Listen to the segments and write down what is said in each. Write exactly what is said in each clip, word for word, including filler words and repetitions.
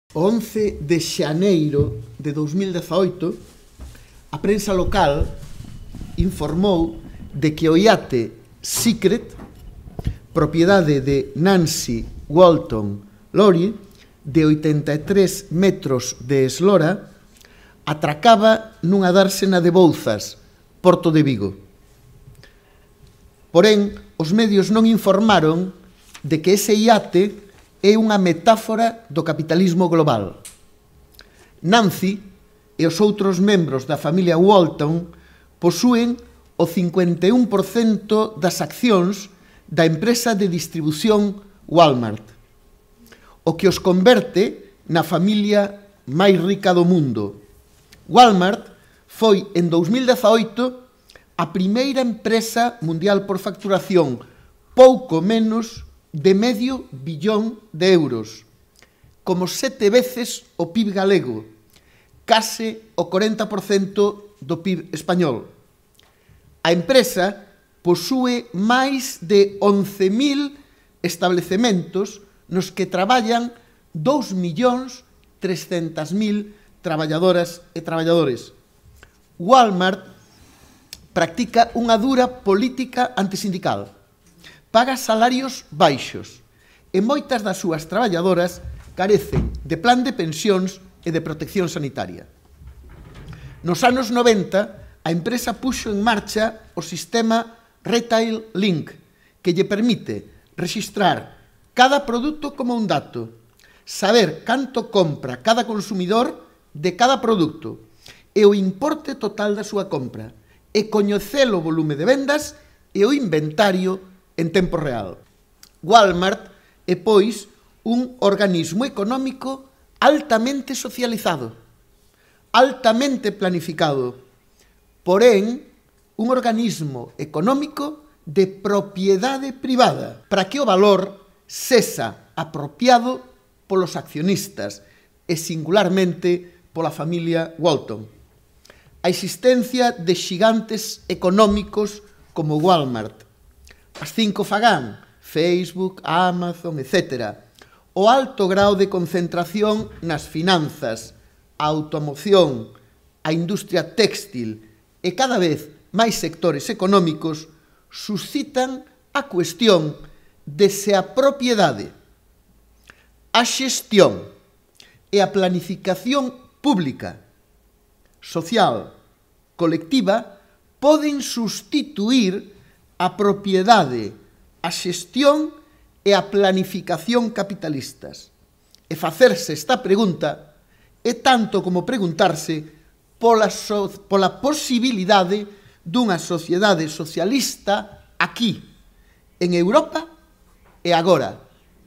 O once de xaneiro de dous mil dezaoito, a prensa local informou de que o iate Secret, propiedade de Nancy Walton Lowry, de oitenta e tres metros de eslora, atracaba nunha dársena de Bouzas, Porto de Vigo. Porén, os medios non informaron de que ese iate é unha metáfora do capitalismo global. Nancy e os outros membros da familia Walton posúen o cincuenta e un por cento das accións da empresa de distribución Walmart, o que os converte na familia máis rica do mundo. Walmart foi, en dous mil dezaoito, a primeira empresa mundial por facturación, pouco menos de medio billón de euros, como sete veces o P I B galego, case o corenta por cento do P I B español. A empresa posúe máis de once mil establecementos nos que traballan dous millóns trescentas mil traballadoras e traballadores. Walmart practica unha dura política antisindical, paga salarios baixos e moitas das súas traballadoras carecen de plan de pensións e de protección sanitaria. Nos anos noventa, a empresa puxo en marcha o sistema Retail Link, que lle permite rexistrar cada produto como un dato, saber canto compra cada consumidor de cada produto e o importe total da súa compra, e coñecer o volume de vendas e o inventario en tempo real. Walmart é, pois, un organismo económico altamente socializado, altamente planificado, porén, un organismo económico de propiedade privada, para que o valor sexa apropiado polos accionistas e singularmente pola familia Walton. A existencia de xigantes económicos como Walmart, as cinco Fagán, Facebook, Amazon, etcétera, o alto grao de concentración nas finanzas, a automoción, a industria téxtil e cada vez máis sectores económicos suscitan a cuestión de se a propiedade, a xestión e a planificación pública, social, colectiva, poden sustituir a propiedade, a xestión e a planificación capitalistas. E facerse esta pregunta é tanto como preguntarse pola, so, pola posibilidade dunha sociedade socialista aquí, en Europa e agora,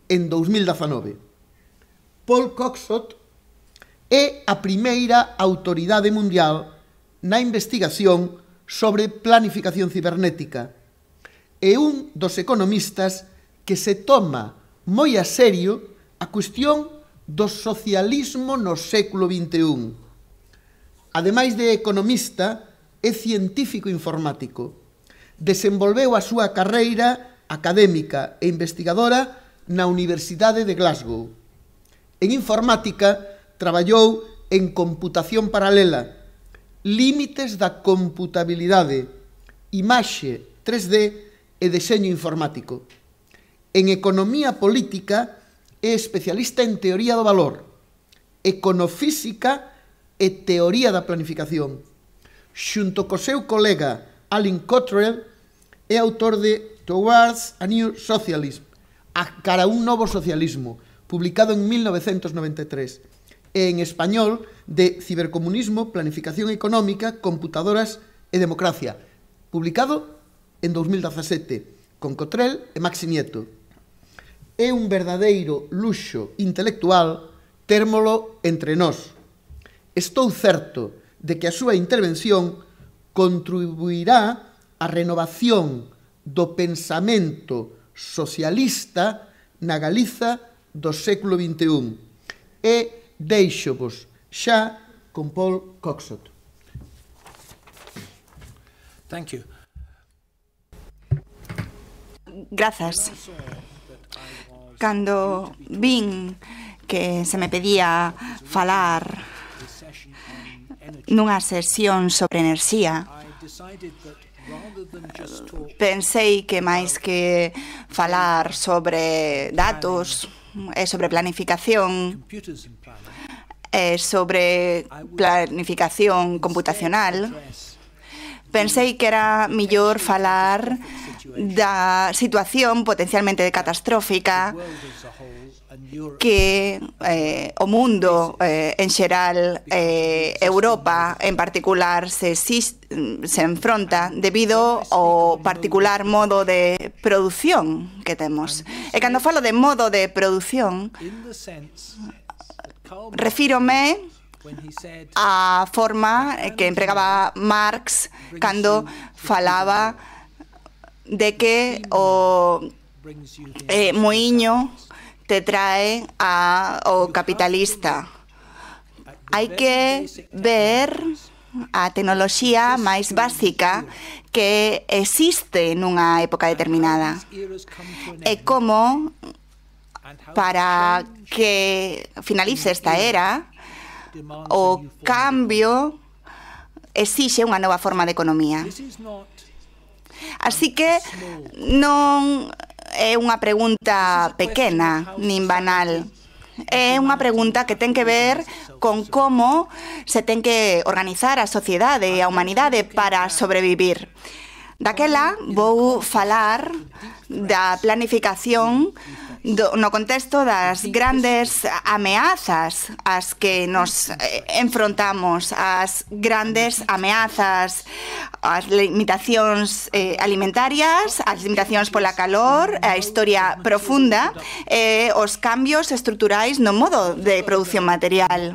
en dous mil dezanove. Paul Coxot é a primeira autoridade mundial na investigación sobre planificación cibernética, é un dos economistas que se toma moi a serio a cuestión do socialismo no século vinte e un. Ademais de economista, é científico informático. Desenvolveu a súa carreira académica e investigadora na Universidade de Glasgow. En informática, traballou en computación paralela, límites da computabilidade, imaxe tres D e deseño informático. En economía política é especialista en teoría do valor, econofísica e teoría da planificación. Xunto co seu colega Alan Cottrell, é autor de Towards a New Socialism, a cara a un novo socialismo, publicado en mil novecentos noventa e tres, e en español de Cibercomunismo, Planificación Económica, Computadoras e Democracia, publicado en dous mil dezasete, con Cottrell e Maxi Nieto. É un verdadeiro luxo intelectual térmolo entre nós. Estou certo de que a súa intervención contribuirá á renovación do pensamento socialista na Galiza do século vinte e un. E deixo-vos xa con Paul Coxot. Thank you. Grazas. Cando vin que se me pedía falar nunha sesión sobre enerxía, pensei que máis que falar sobre datos e sobre planificación e sobre planificación computacional, pensei que era mellor falar da situación potencialmente catastrófica que eh, o mundo eh, en xeral, eh, Europa en particular, se, se enfronta debido ao particular modo de produción que temos. E cando falo de modo de produción, refírome á forma que empregaba Marx cando falaba de que o eh, moiño te trae ao capitalista. Hai que ver a tecnoloxía máis básica que existe nunha época determinada e como para que finalice esta era o cambio exixe unha nova forma de economía. Así que non é unha pregunta pequena nin banal. É unha pregunta que ten que ver con como se ten que organizar a sociedade e a humanidade para sobrevivir. Daquela vou falar da planificación do, no contexto das grandes ameazas ás que nos eh, enfrontamos, as grandes ameazas, as limitacións eh, alimentarias, as limitacións pola calor, a historia profunda e eh, os cambios estruturais no modo de produción material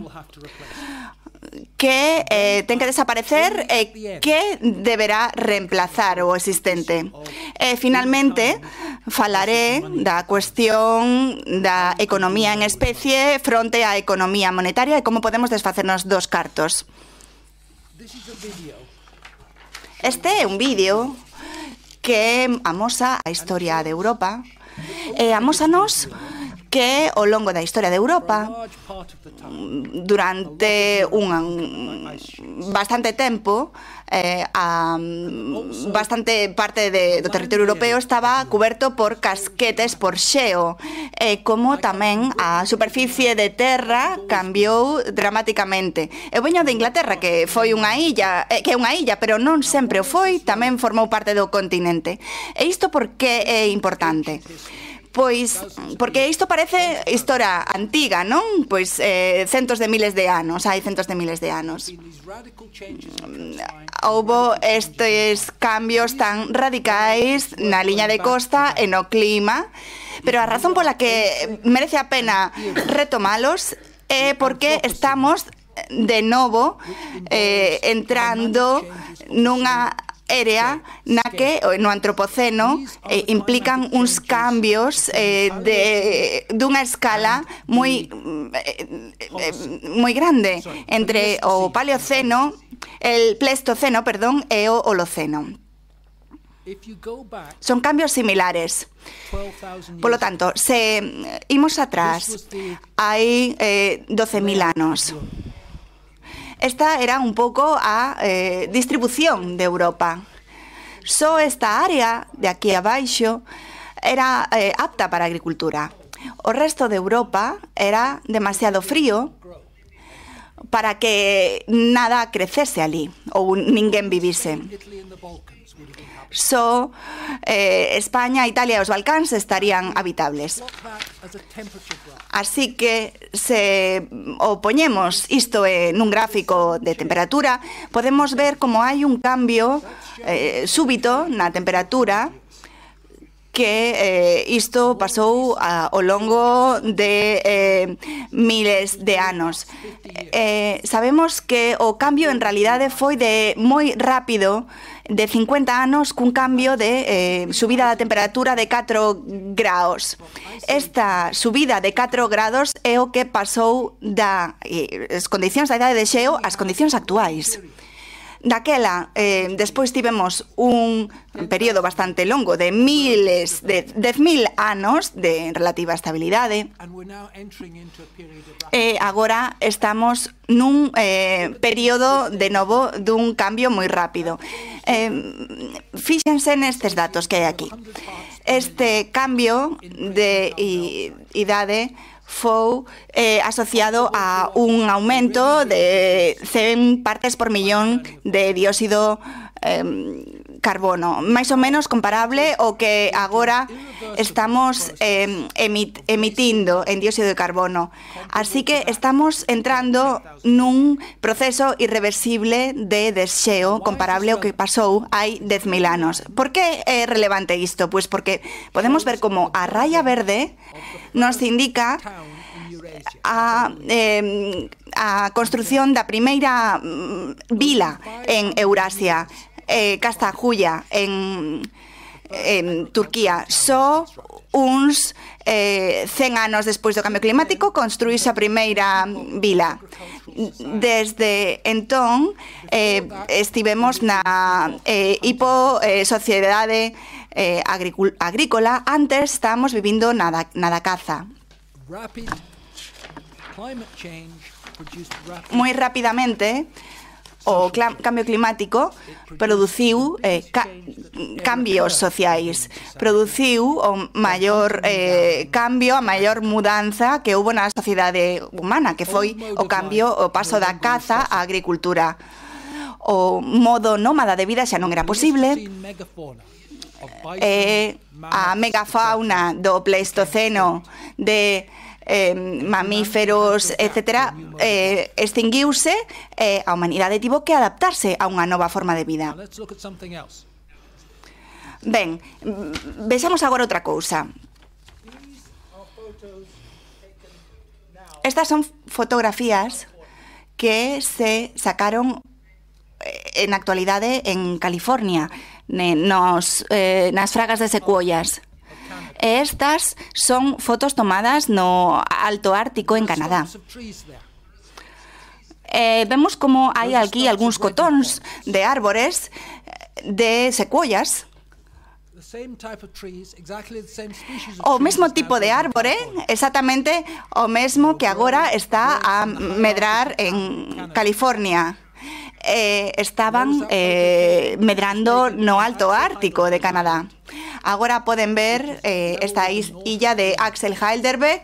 que eh, ten que desaparecer e eh, que deberá reemplazar o existente. E, finalmente, falaré da cuestión da economía en especie fronte á economía monetaria e como podemos desfacernos dos cartos. Este é un vídeo que amosa a historia de Europa e amósanos que ao longo da historia de Europa, durante un bastante tempo, eh, a bastante parte de, do territorio europeo estaba cuberto por casquetes, por xeo, e como tamén a superficie de terra cambiou dramaticamente. Eu veño de Inglaterra, que foi unha illa, eh, que é unha illa, pero non sempre o foi, tamén formou parte do continente. E isto por que é importante? Pois, porque isto parece historia antiga, non? Pois eh, centos de miles de anos, hai centos de miles de anos. Houbo estes cambios tan radicais na liña de costa e no clima, pero a razón pola que merece a pena retomalos é porque estamos de novo eh, entrando nunha área na que no antropoceno eh, implican uns cambios eh, de dunha escala moi eh, eh, moi grande entre o Paleoceno, el Pleistoceno, perdón, e o Holoceno. Son cambios similares. Polo tanto, se imos atrás, hai eh, doce mil anos. Esta era un pouco a eh, distribución de Europa. Só esta área de aquí abaixo era eh, apta para a agricultura. O resto de Europa era demasiado frío para que nada crecese ali ou ninguén vivise. Só eh, España, Italia e os Balcáns estarían habitables. Así que se o poñemos isto eh, nun gráfico de temperatura, podemos ver como hai un cambio eh, súbito na temperatura que eh, isto pasou a, ao longo de eh, miles de anos. Eh, sabemos que o cambio en realidade foi de moi rápido, de cincuenta anos, cun cambio de eh, subida da temperatura de catro graus. Esta subida de catro grados é o que pasou das eh, condicións da idade de xeo ás condicións actuais. Daquela, eh, despois tivemos un período bastante longo de miles, de dez mil anos de relativa estabilidade. E agora estamos nun eh, período de novo dun cambio moi rápido. Eh, fíxense nestes datos que hai aquí. Este cambio de idade foi eh, asociado a un aumento de cen partes por millón de dióxido eh, carbono, máis ou menos comparable ao que agora estamos eh, emit emitindo en dióxido de carbono. Así que estamos entrando nun proceso irreversible de desxeo comparable ao que pasou hai dez mil anos. Por que é relevante isto? Pois porque podemos ver como a raya verde nos indica a, eh, a construción da primeira vila en Eurasia, eh, Castajuya, en, en Turquía. Só uns eh, cen anos despois do cambio climático construíse a primeira vila. Desde entón eh, estivemos na eh, hipo eh, sociedade eh, agrícola. Antes estábamos vivindo na da, na da caza. Moi rapidamente o cambio climático produciu eh, ca cambios sociais, produciu o maior eh, cambio, a maior mudanza que houve na sociedade humana, que foi o cambio, o paso da caza á agricultura. O modo nómada de vida xa non era posible. Eh, a megafauna do Pleistoceno de Eh, mamíferos, etcétera, eh, extinguiuse e eh, a humanidade tivo que adaptarse a unha nova forma de vida. Ben, vexamos agora outra cousa. Estas son fotografías que se sacaron en actualidade en California, nos, eh, nas fragas de secuoias. Estas son fotos tomadas no Alto Ártico en Canadá. Eh, vemos como hai aquí algúns cotóns de árbores de secuoias. O mesmo tipo de árbore, exactamente o mesmo que agora está a medrar en California. Eh, estaban eh, medrando no Alto Ártico de Canadá. Agora poden ver eh, esta illa de Axel Heidelberg,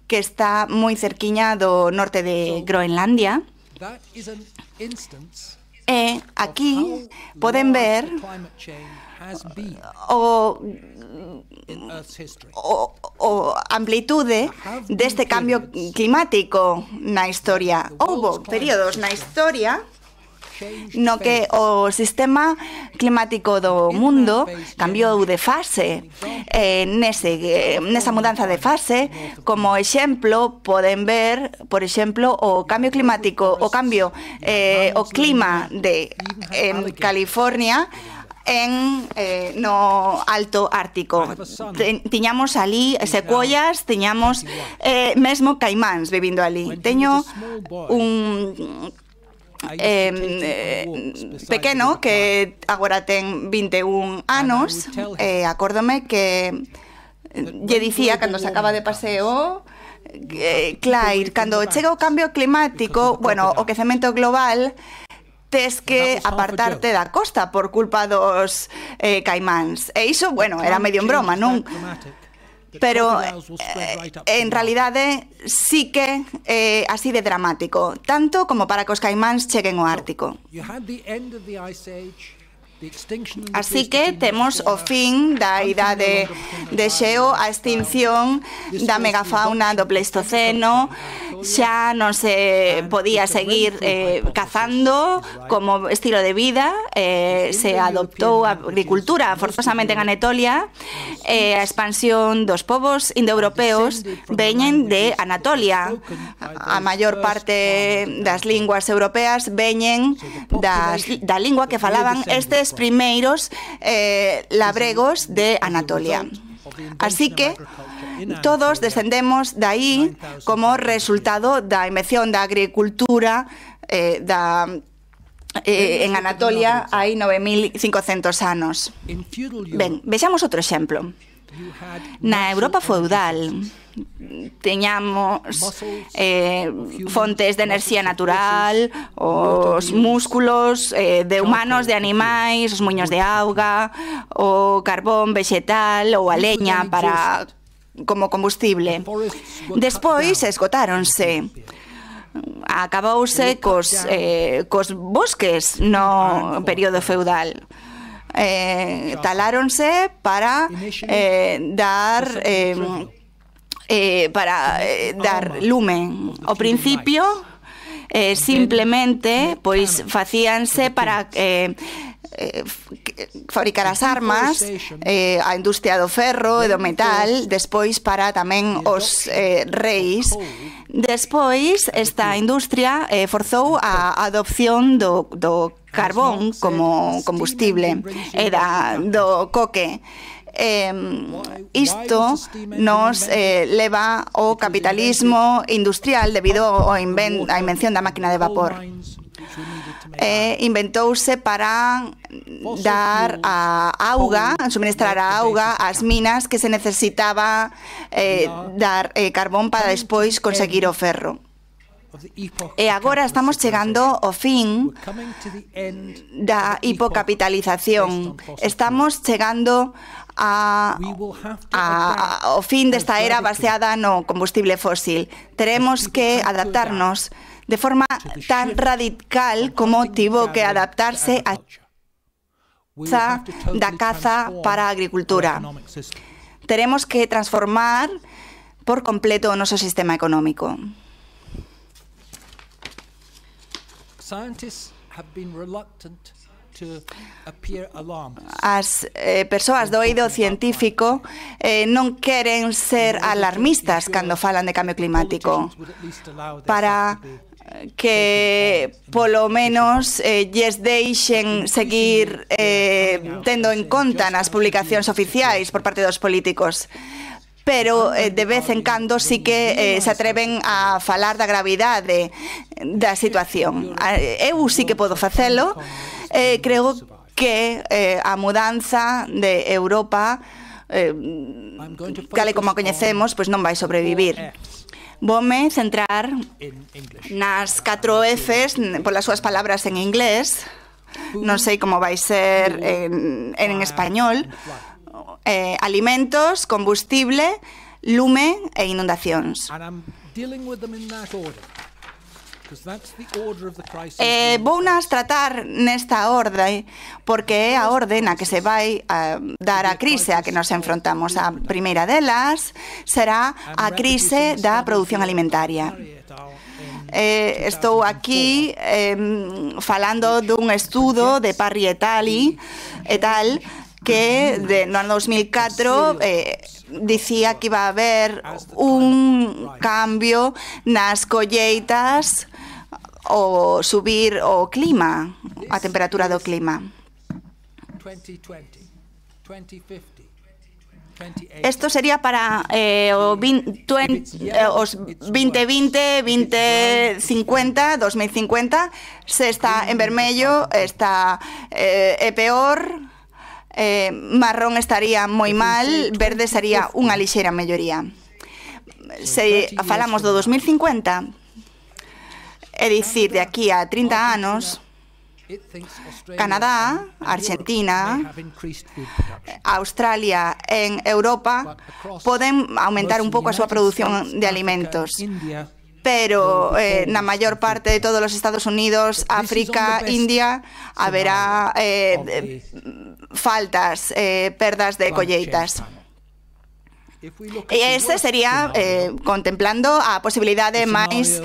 que está moi cerquiña do norte de Groenlandia. E aquí poden ver o, o, o amplitude deste cambio climático na historia. Houbo períodos na historia no que o sistema climático do mundo cambiou de fase. Eh, nese, nesa mudanza de fase, como exemplo, poden ver, por exemplo, o cambio climático, o cambio, eh, o clima de eh, California en eh, no Alto Ártico. Tiñamos ali secuoias, tiñamos eh, mesmo caimáns vivindo ali. Teño un Eh, eh, pequeno que agora ten vinte e un anos. eh, acórdome que lle dicía cando se acaba de paseo eh, Claire, cando chega o cambio climático, bueno, o quecemento global, tes que apartarte da costa por culpa dos eh, caimáns. E iso, bueno, era medio en broma, non? Pero eh, en realidade sí que é eh, así de dramático, tanto como para que os caimáns cheguen ao Ártico. Así que temos o fin da idade de xeo, a extinción da megafauna do Pleistoceno. Xa non se podía seguir eh, cazando como estilo de vida, eh, se adoptou a agricultura forzosamente en Anatolia, e eh, a expansión dos povos indoeuropeos veñen de Anatolia. A maior parte das linguas europeas veñen das, da lingua que falaban estes primeiros eh, labregos de Anatolia. Así que todos descendemos de aí como resultado da invención da agricultura, eh, da eh, en Anatolia hai nove mil cincocentos anos. Ben, vexamos outro exemplo. Na Europa feudal teñamos eh, fontes de enerxía natural, os músculos eh, de humanos, de animais, os muiños de auga, o carbón vegetal ou a leña para como combustible. Despois esgotáronse. Acabouse cos, eh, cos bosques no período feudal. Eh, taláronse para eh, dar eh, eh, para eh, dar lume. Ao principio eh, simplemente pois facíanse para eh, eh, fabricar as armas, eh, a industria do ferro e do metal, despois para tamén os eh, reis. Despois esta industria eh, forzou a adopción do, do carbón como combustible e da, do coque. Eh, isto nos eh, leva ao capitalismo industrial debido á inven invención da máquina de vapor. Eh, inventouse para dar a auga, suministrar a auga ás minas que se necesitaba eh, dar eh, carbón para despois conseguir o ferro. E agora estamos chegando ao fin da hipocapitalización. Estamos chegando a, a, ao fin desta era baseada no combustible fósil. Teremos que adaptarnos de forma tan radical como tivo que adaptarse a da caza para a agricultura. Teremos que transformar por completo o noso sistema económico. As eh, persoas do eido científico eh, non queren ser alarmistas cando falan de cambio climático, para que polo menos eh, lles deixen seguir eh, tendo en conta nas publicacións oficiais por parte dos políticos. Pero eh, de vez en cando sí que eh, se atreven a falar da gravidade da situación. Eu sí que podo facelo. Eh, creo que eh, a mudanza de Europa, eh, tal e como a coñecemos, pois non vai sobrevivir. Voume centrar nas catro Fs, polas súas palabras en inglés. Non sei como vai ser en, en español. Eh, alimentos, combustible, lume e inundacións. Eh, vounas tratar nesta orde porque é a orde na que se vai a dar a crise a que nos enfrontamos. A primeira delas será a crise da produción alimentaria. Eh, estou aquí eh, falando dun estudo de Parry et al. et al. que de, no ano dos mil catro eh, dicía que iba a haber un cambio nas colleitas o subir o clima, a temperatura do clima. Isto sería para eh, o veinte, eh, os veinte vinte, veinte cincuenta, dos mil cincuenta. Se está en vermello, está eh, é peor. Eh, marrón estaría moi mal, verde sería unha lixeira melloría. Se falamos do dos mil cincuenta, é dicir, de aquí a trinta anos, Canadá, Argentina, Australia e Europa poden aumentar un pouco a súa produción de alimentos. Pero eh, na maior parte de todos os Estados Unidos, África, India, haberá eh, faltas, eh, perdas de colleitas. E ese sería eh, contemplando a posibilidade máis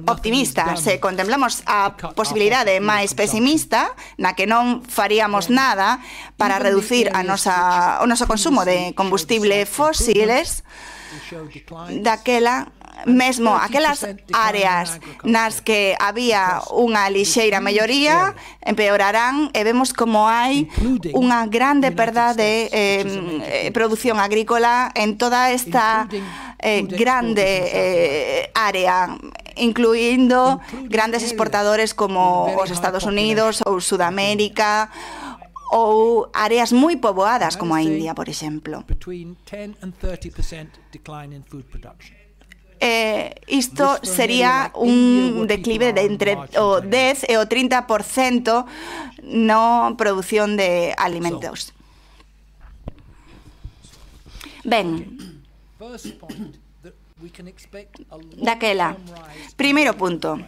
optimista. Se contemplamos a posibilidade máis pesimista, na que non faríamos nada para reducir a nosa, o noso consumo de combustible fósiles, daquela mesmo aquelas áreas nas que había unha lixeira melloría empeorarán e vemos como hai unha grande perda de eh, produción agrícola en toda esta eh, grande eh, área, incluindo grandes exportadores como os Estados Unidos ou Sudamérica, ou áreas moi poboadas como a India, por exemplo. Eh, isto sería un declive de entre o dez e o trinta por cento na produción de alimentos. Ben, daquela, primeiro punto,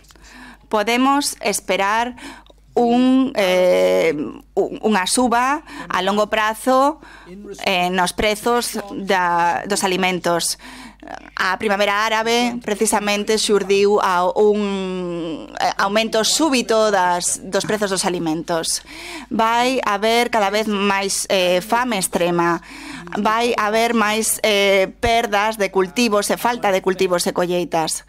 podemos esperar un, eh, unha suba a longo prazo eh, nos prezos da, dos alimentos. A primavera árabe precisamente xurdiu a un aumento súbito das, dos prezos dos alimentos. Vai haber cada vez máis eh, fame extrema, vai haber máis eh, perdas de cultivos e falta de cultivos e colleitas.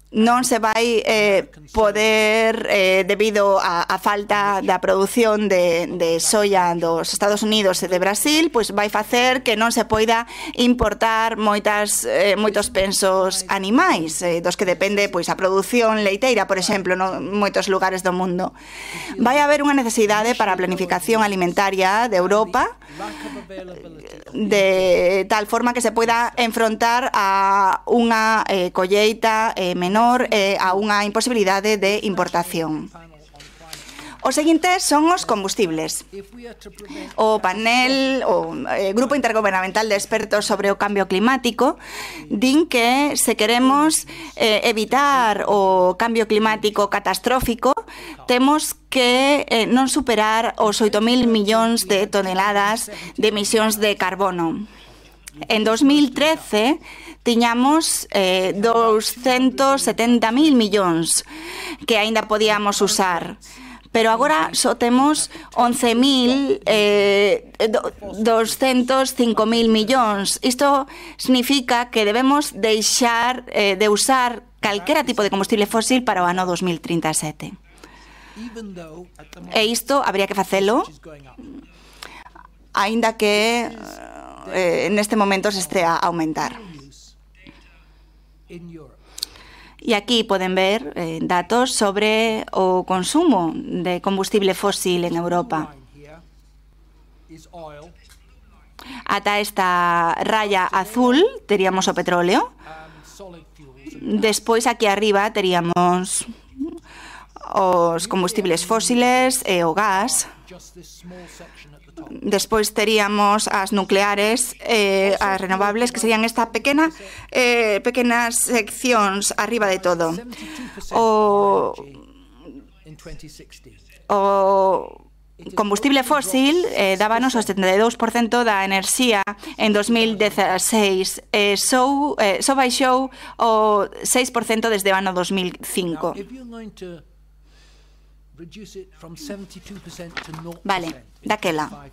Non se vai eh, poder, eh, debido a, a falta da produción de, de soia dos Estados Unidos e de Brasil, pois vai facer que non se poida importar moitas, eh, moitos pensos animais, eh, dos que depende pois a produción leiteira, por exemplo, en moitos lugares do mundo. Vai haber unha necesidade para a planificación alimentaria de Europa, de tal forma que se poida enfrontar a unha eh, colleita eh, menor eh, a unha imposibilidade de importación. O seguinte son os combustibles. O panel, o eh, Grupo Intergubernamental de Expertos sobre o Cambio Climático, din que se queremos eh, evitar o cambio climático catastrófico, temos que eh, non superar os oito mil millóns de toneladas de emisións de carbono. En dos mil trece tiñamos eh, doscientos setenta mil millóns que aínda podíamos usar. Pero agora só temos once mil doscientos cinco mil millóns. Isto significa que debemos deixar eh, de usar calquera tipo de combustible fósil para o ano dos mil trinta e sete. E isto habría que facelo, aínda que eh, neste momento se estea a aumentar. E aquí poden ver eh, datos sobre o consumo de combustible fósil en Europa. Ata esta raya azul teríamos o petróleo. Despois aquí arriba teríamos os combustibles fósiles e o gas. Despois teríamos as nucleares e eh, as renovables, que serían esta pequena eh, pequenas seccións arriba de todo. O, o combustible fósil eh, dábanos o setenta e dous por cento da enerxía en dos mil dezaseis, eh, só, eh, só baixou o seis por cento desde o ano dos mil cinco. Vale, daquela.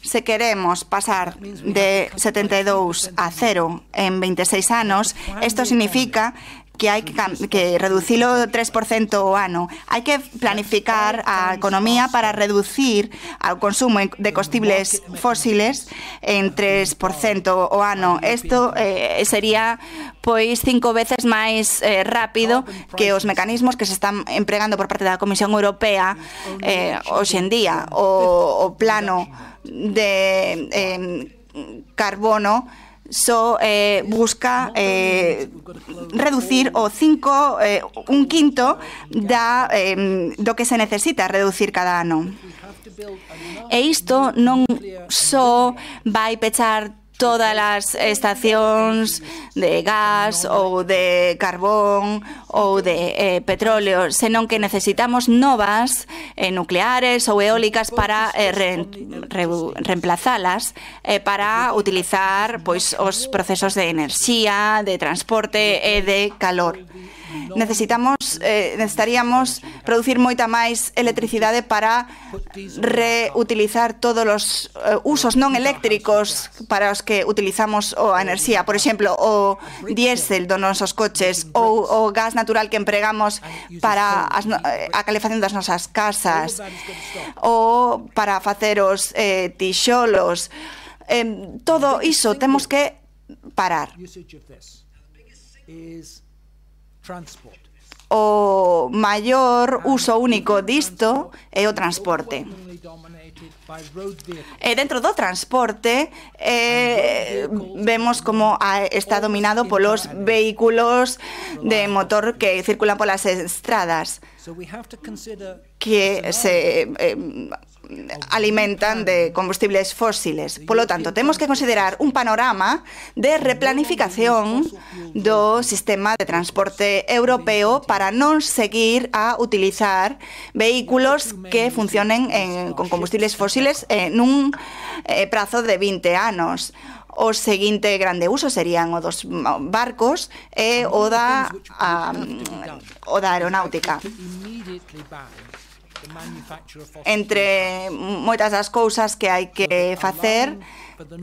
Se queremos pasar de setenta e dous a cero en veintiséis anos, isto significa que hai que, que reducilo tres por cento o ano. Hai que planificar a economía para reducir o consumo de combustibles fósiles en tres por cento o ano. Isto eh, sería pois cinco veces máis eh, rápido que os mecanismos que se están empregando por parte da Comisión Europea eh, hoxe en día. O, o plano de eh, carbono só eh, busca eh, reducir o cinco, eh, un quinto da, eh, do que se necesita reducir cada ano. E isto non só vai pechar todas as estacións de gas ou de carbón ou de eh, petróleo, senón que necesitamos novas eh, nucleares ou eólicas para eh, re, re, reemplazalas eh, para utilizar pois, os procesos de enerxía, de transporte e de calor. Necesitamos, eh, necesitaríamos producir moita máis electricidade para reutilizar todos os eh, usos non eléctricos para os que utilizamos a enerxía. Por exemplo, o diésel dos nosos coches ou o gas natural que empregamos para as, a calefacción das nosas casas ou para facer os eh, tixolos. Eh, todo iso temos que parar. O maior uso único disto é o transporte. E dentro do transporte eh, vemos como está dominado polos vehículos de motor que circulan polas estradas, que se eh, alimentan de combustibles fósiles. Polo tanto, temos que considerar un panorama de replanificación do sistema de transporte europeo para non seguir a utilizar vehículos que funcionen en, con combustibles fósiles en un eh, prazo de vinte anos. O seguinte grande uso serían o dos barcos e o da, a, o da aeronáutica. Entre moitas das cousas que hai que facer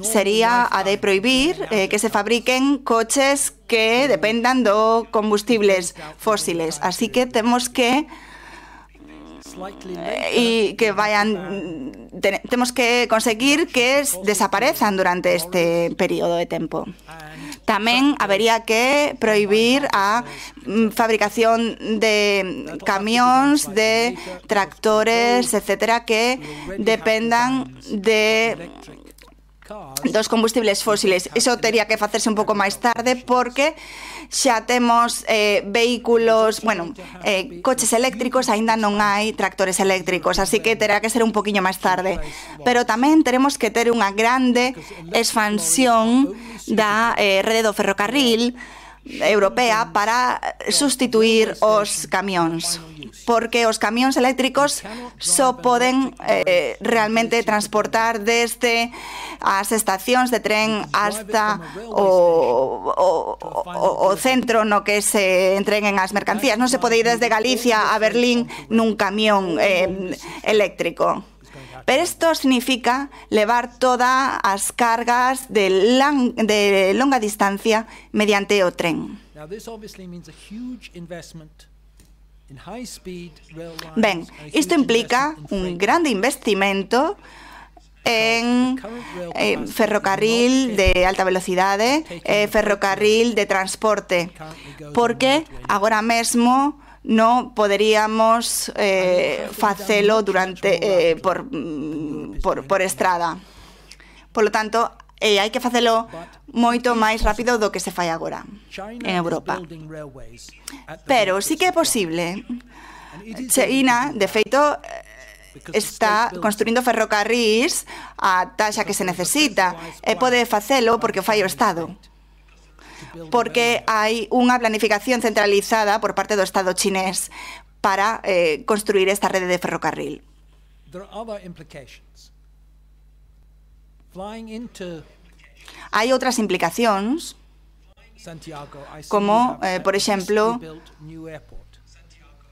sería a de prohibir eh, que se fabriquen coches que dependan do combustibles fósiles. Así que temos que e que vayan te, temos que conseguir que desaparezan durante este período de tempo. Tamén habería que prohibir a fabricación de camións, de tractores, etcétera, que dependan de dos combustibles fósiles. Iso tería que facerse un pouco máis tarde porque xa temos eh, vehículos, bueno, eh, coches eléctricos, aínda non hai tractores eléctricos, así que terá que ser un poquinho máis tarde. Pero tamén teremos que ter unha grande expansión da eh, rede do ferrocarril europea para sustituir os camións, porque os camións eléctricos só poden eh, realmente transportar desde as estacións de tren hasta o, o, o, o centro no que se entreguen as mercancías. Non se pode ir desde Galicia a Berlín nun camión eh, eléctrico. Pero isto significa levar todas as cargas de, lang, de longa distancia mediante o tren. Ben, isto implica un grande investimento en eh, ferrocarril de alta velocidade, eh, ferrocarril de transporte, porque agora mesmo non poderíamos eh, facelo durante eh, por, por, por estrada. Polo tanto, eh, hai que facelo moito máis rápido do que se fai agora en Europa. Pero sí que é posible. China, de feito, está construindo ferrocarrís a taxa que se necesita e pode facelo porque o fai o Estado, porque hai unha planificación centralizada por parte do Estado chinés para eh, construir esta rede de ferrocarril. Hai outras implicacións, como, eh, por exemplo,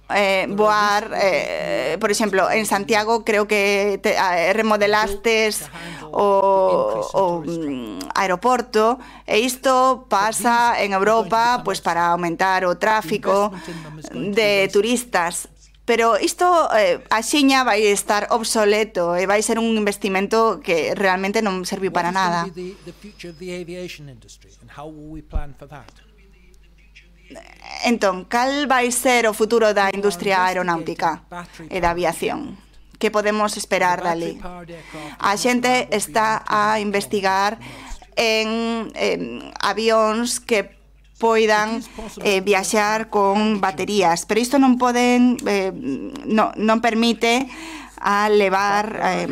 Eh, voar, eh, por exemplo, en Santiago creo que te, eh, remodelastes o, o mm, aeroporto, e isto pasa en Europa pues, para aumentar o tráfico de turistas. Pero isto eh, axiña vai estar obsoleto e vai ser un investimento que realmente non serviu para nada. Entón, cal vai ser o futuro da industria aeronáutica e da aviación? Que podemos esperar dali? A xente está a investigar en, en avións que poidan eh, viaxar con baterías, pero isto non poden, eh, no, non permite a levar, eh,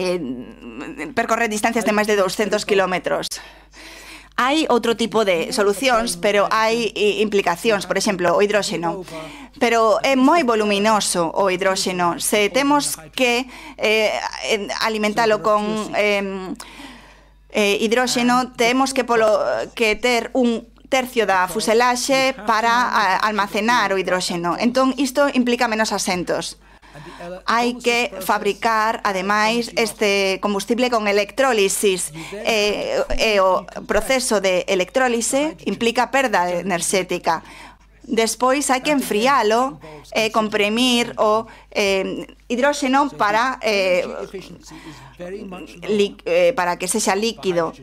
eh, percorrer distancias de máis de doscientos kilómetros. Hai outro tipo de solucións, pero hai implicacións, por exemplo, o hidróxeno. Pero é moi voluminoso o hidróxeno. Se temos que eh, alimentalo con eh, eh, hidróxeno, temos que, polo, que ter un tercio da fuselaxe para almacenar o hidróxeno. Entón, isto implica menos asentos. Hai que fabricar, ademais, este combustible con electrólisis. E, e o proceso de electrólise implica perda enerxética. Despois hai que enfrialo e comprimir o eh, hidróxeno para, eh, li, eh, para que sexa líquido.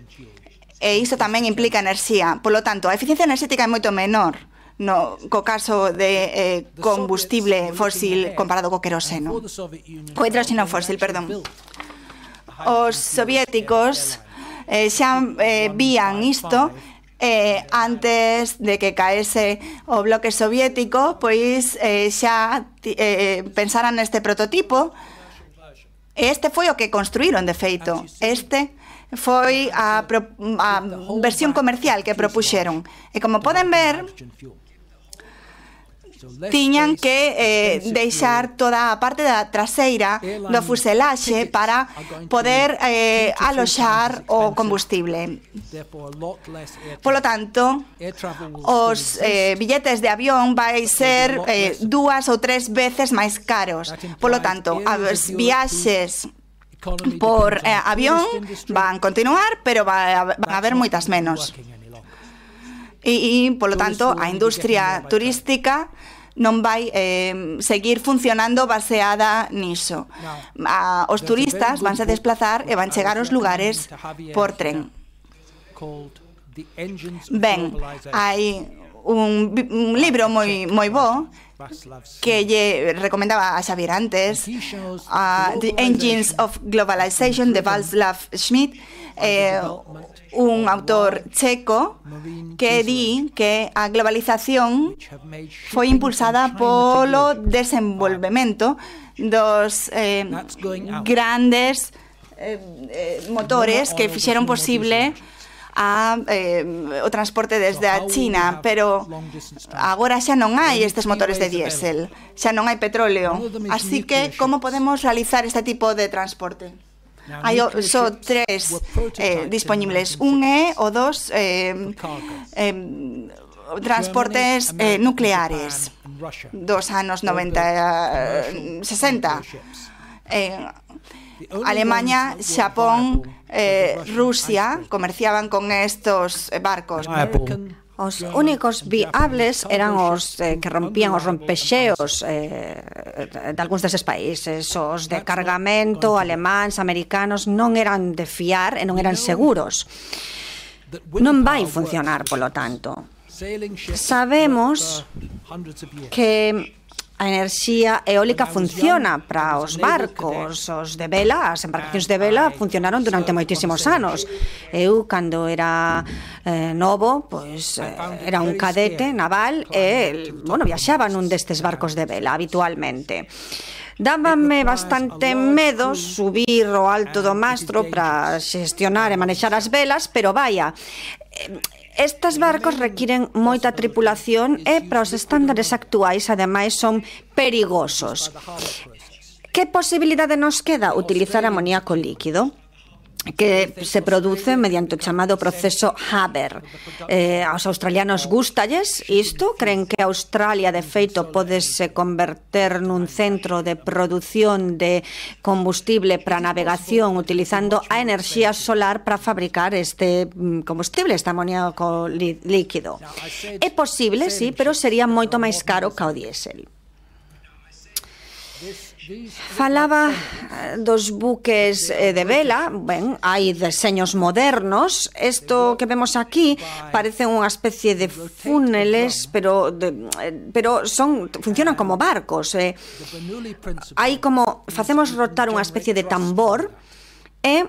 e iso tamén implica enerxía. Polo tanto, a eficiencia enerxética é moito menor no co caso de eh, combustible fósil comparado co queroseno. O hidróxeno fósil, perdón. Os soviéticos eh, xa eh, vían isto eh, antes de que caese o bloque soviético, pois eh, xa eh, pensaran neste prototipo. Este foi o que construíron, de feito. Este foi a, a versión comercial que propuxeron. E como poden ver, tiñan que eh, deixar toda a parte da traseira do fuselaxe para poder eh, aloxar o combustible. Polo tanto, os eh, billetes de avión vai ser eh, dúas ou tres veces máis caros. Polo tanto, as viaxes por eh, avión van continuar, pero va, van a haber moitas menos. E, e, polo tanto, a industria turística non vai eh, seguir funcionando baseada niso. A, os turistas vanse desplazar e van chegar aos lugares por tren. Ben, hai un, un libro moi, moi bo que lle recomendaba a Xavier antes, uh, The Engines of Globalization, de Václav Schmidt, eh, un autor checo que di que a globalización foi impulsada polo desenvolvemento dos eh, grandes eh, eh, motores que fixeron posible a, eh, o transporte desde a China, pero agora xa non hai estes motores de diésel, xa non hai petróleo, así que como podemos realizar este tipo de transporte? Hai só tres eh, disponibles. Un é o dos eh, eh, transportes eh, nucleares dos anos noventa, sesenta. Eh, Alemania, Xapón, eh, Rusia comerciaban con estos barcos. Os únicos viables eran os eh, que rompían os rompexeos eh, de algúns deses países. Os de cargamento, alemáns, americanos, non eran de fiar e non eran seguros. Non vai funcionar, polo tanto. Sabemos que a enerxía eólica funciona para os barcos, os de vela, as embarcacións de vela funcionaron durante moitísimos anos. Eu, cando era eh, novo, pois eh, era un cadete naval e, bueno, viaxaba nun destes barcos de vela habitualmente. Dábame bastante medo subir ao alto do mastro para xestionar e manexar as velas, pero vaya, estes barcos requiren moita tripulación e para os estándares actuais, ademais, son perigosos. Que posibilidade nos queda? Utilizar amoníaco líquido, que se produce mediante o chamado proceso Haber. Eh, aos australianos gustalles isto, creen que Australia, de feito, podese converter nun centro de produción de combustible para navegación utilizando a enerxía solar para fabricar este combustible, este amoníaco líquido. É posible, sí, pero sería moito máis caro que o diésel. Falaba dos buques de vela. Ben, hai deseños modernos. Isto que vemos aquí parece unha especie de fúneles, pero de, pero son funcionan como barcos. Eh. Hai como facemos rotar unha especie de tambor e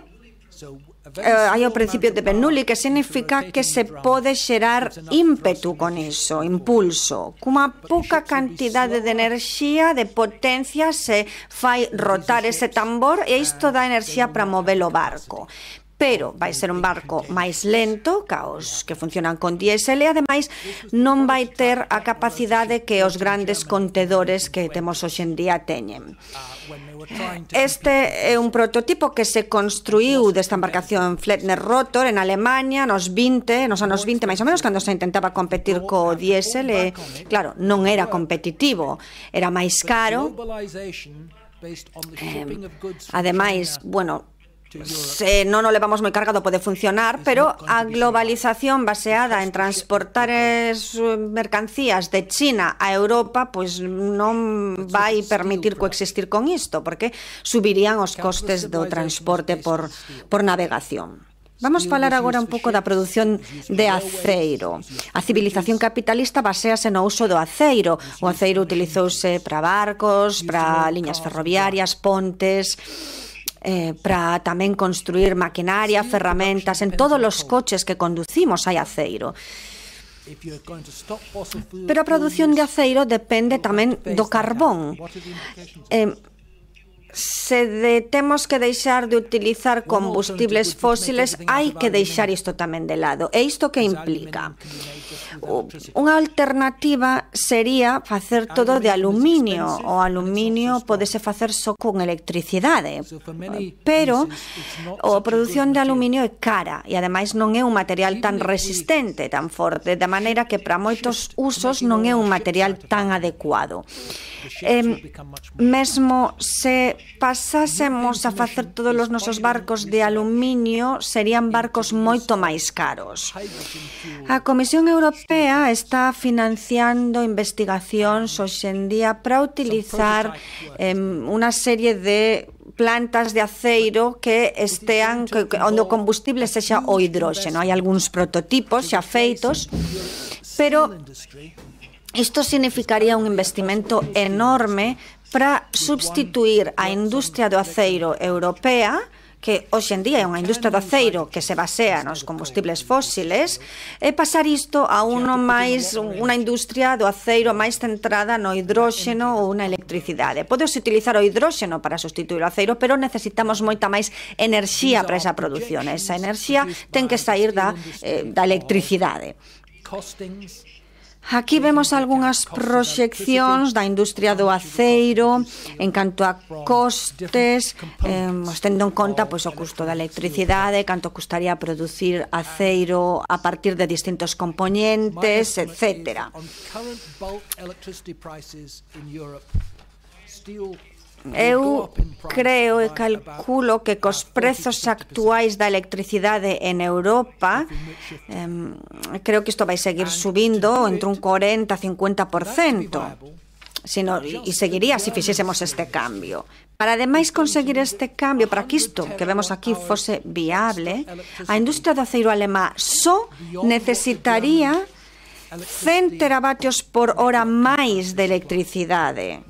Eh, hai o principio de Bernoulli, que significa que se pode xerar ímpetu con iso, impulso. Cunha pouca cantidade de enerxía, de potencia, se fai rotar ese tambor e isto dá enerxía para mover o barco. Pero vai ser un barco máis lento que os que funcionan con diésel e, ademais, non vai ter a capacidade que os grandes contedores que temos hoxe en día teñen. Este é un prototipo que se construiu desta embarcación Flettner Rotor en Alemania nos vinte, nos anos vinte, máis ou menos, cando se intentaba competir co diésel e, claro, non era competitivo, era máis caro. Eh, ademais, bueno, se non o levamos moi cargado pode funcionar, pero a globalización baseada en transportar as mercancías de China a Europa pois non vai permitir coexistir con isto, porque subirían os costes do transporte por, por navegación. Vamos falar agora un pouco da produción de aceiro. A civilización capitalista basease no uso do aceiro. O aceiro utilizouse para barcos, para liñas ferroviarias, pontes, eh, para tamén construir maquinaria, ferramentas. En todos os coches que conducimos hai aceiro. Pero a produción de aceiro depende tamén do carbón. Eh, Se de, temos que deixar de utilizar combustibles fósiles, hai que deixar isto tamén de lado. E isto que implica? Unha alternativa sería facer todo de aluminio. O aluminio podese facer só con electricidade, pero a produción de aluminio é cara e ademais non é un material tan resistente, tan forte, de maneira que para moitos usos non é un material tan adecuado. Eh, mesmo se pasásemos a facer todos os nosos barcos de aluminio, serían barcos moito máis caros. A Comisión Europea está financiando investigacións hoxe en día para utilizar eh, unha serie de plantas de aceiro que estean que, onde o combustible sexa o hidróxeno. Hai algúns prototipos xa feitos, pero isto significaría un investimento enorme para substituir a industria do aceiro europea, que hoxe en día é unha industria do aceiro que se basea nos combustibles fósiles, e pasar isto a uno máis, unha industria do aceiro máis centrada no hidróxeno ou na electricidade. Podes utilizar o hidróxeno para sustituir o aceiro, pero necesitamos moita máis enerxía para esa produción. Esa enerxía ten que sair da, eh, da electricidade. Aquí vemos algunhas proxeccións da industria do aceiro en canto a costes, eh, tendo en conta pois, o custo da electricidade, canto custaría producir aceiro a partir de distintos componentes, etcétera. Eu creo e calculo que cos prezos actuais da electricidade en Europa, eh, creo que isto vai seguir subindo entre un cuarenta a cincuenta por cento. Sino, e seguiría se fixésemos este cambio. Para ademais conseguir este cambio, para que isto que vemos aquí fose viable, a industria do aceiro alemá só necesitaría cen teravatios por hora máis de electricidade.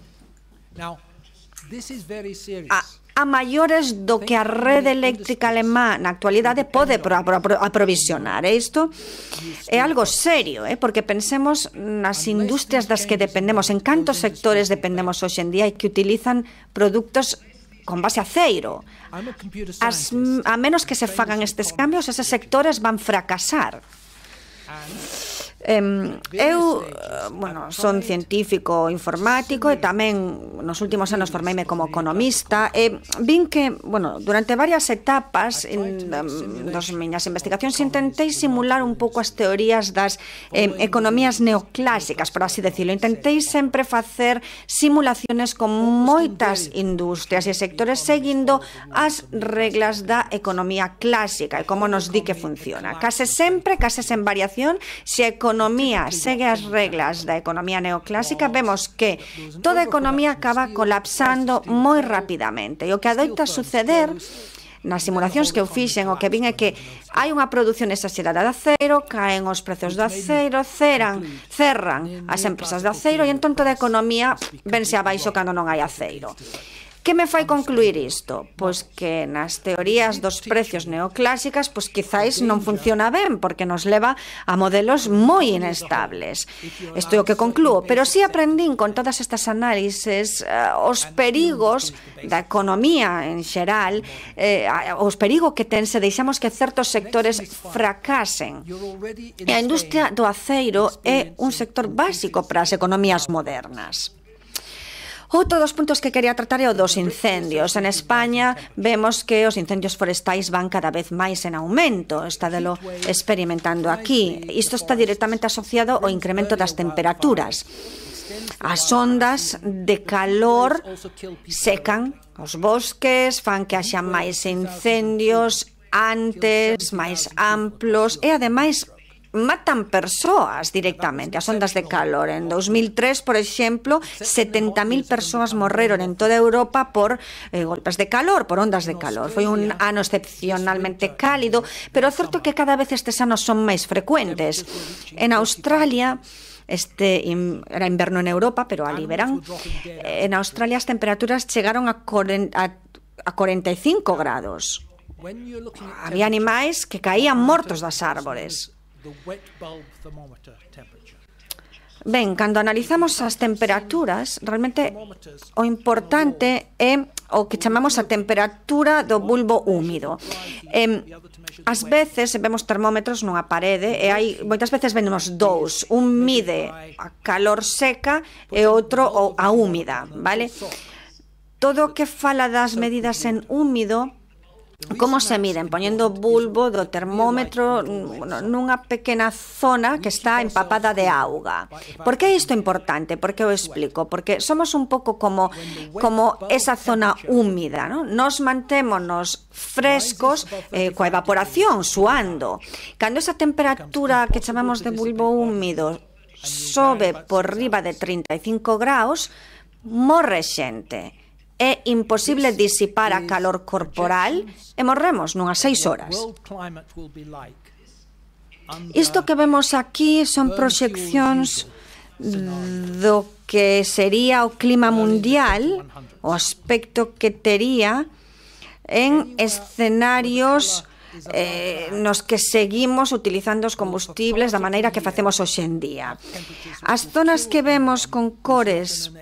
A, a maiores do que a rede eléctrica alemá na actualidade pode pro, pro, pro, aprovisionar. E isto é algo serio, eh? Porque pensemos nas industrias das que dependemos, en cantos sectores dependemos hoxe en día e que utilizan produtos con base a aceiro. As, a menos que se fagan estes cambios, eses sectores van fracasar. Eh, eu, bueno, son científico informático e tamén nos últimos anos formeime como economista e vin que, bueno, durante varias etapas en, das miñas investigacións intentei simular un pouco as teorías das eh, economías neoclásicas, por así decirlo. Intentei sempre facer simulaciones con moitas industrias e sectores seguindo as reglas da economía clásica e como nos di que funciona. Case sempre, case sen variación, se a economía segue as reglas da economía neoclásica, vemos que toda a economía acaba colapsando moi rapidamente. E o que adoita suceder nas simulacións que eu fixen, o que vin é que hai unha produción exagerada de aceiro, caen os prezos do aceiro, ceran, cerran as empresas de aceiro e entón toda a economía vense abaixo cando non hai aceiro. Que me fai concluir isto? Pois que nas teorías dos precios neoclásicas, pois quizáis non funciona ben, porque nos leva a modelos moi inestables. Isto é o que conclúo, pero si aprendín con todas estas análises eh, os perigos da economía en xeral, eh, os perigos que ten se deixamos que certos sectores fracasen. E a industria do aceiro é un sector básico para as economías modernas. Outro dos puntos que quería tratar é o dos incendios. En España vemos que os incendios forestais van cada vez máis en aumento. Estádelo experimentando aquí. Isto está directamente asociado ao incremento das temperaturas. As ondas de calor secan os bosques, fan que haxa máis incendios antes, máis amplos e, ademais, matan persoas directamente, as ondas de calor. En dos mil tres, por exemplo, setenta mil persoas morreron en toda Europa por eh, golpes de calor, por ondas de calor. Foi un ano excepcionalmente cálido, pero é certo que cada vez estes anos son máis frecuentes. En Australia, este era inverno en Europa, pero ali verán, en Australia as temperaturas chegaron a cuarenta e cinco grados. Había animais que caían mortos das árbores. Ben, cando analizamos as temperaturas, realmente o importante é o que chamamos a temperatura do bulbo húmido. Eh, ás veces vemos termómetros nunha parede e hai moitas veces vemos dous, un mide a calor seca e outro a húmida, vale? Todo o que fala das medidas en húmido, como se miden? Poñendo o bulbo do termómetro nunha pequena zona que está empapada de auga. Por que isto é importante? Por que o explico? Porque somos un pouco como, como esa zona húmida, ¿no? Nos mantémonos frescos eh, coa evaporación, suando. Cando esa temperatura que chamamos de bulbo húmido sobe por riba de trinta e cinco graus, morre xente. É imposible disipar a calor corporal e morremos nunhas seis horas. Isto que vemos aquí son proxeccións do que sería o clima mundial, o aspecto que tería en escenarios eh, nos que seguimos utilizando os combustibles da maneira que facemos hoxe en día. As zonas que vemos con cores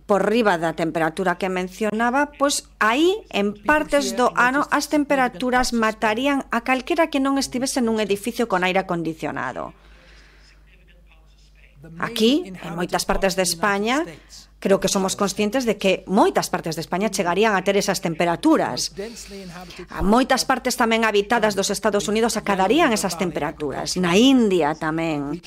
por riba da temperatura que mencionaba, pois aí, en partes do ano, as temperaturas matarían a calquera que non estivese nun edificio con aire acondicionado. Aquí, en moitas partes de España, creo que somos conscientes de que moitas partes de España chegarían a ter esas temperaturas. A moitas partes tamén habitadas dos Estados Unidos acadarían esas temperaturas. Na India tamén.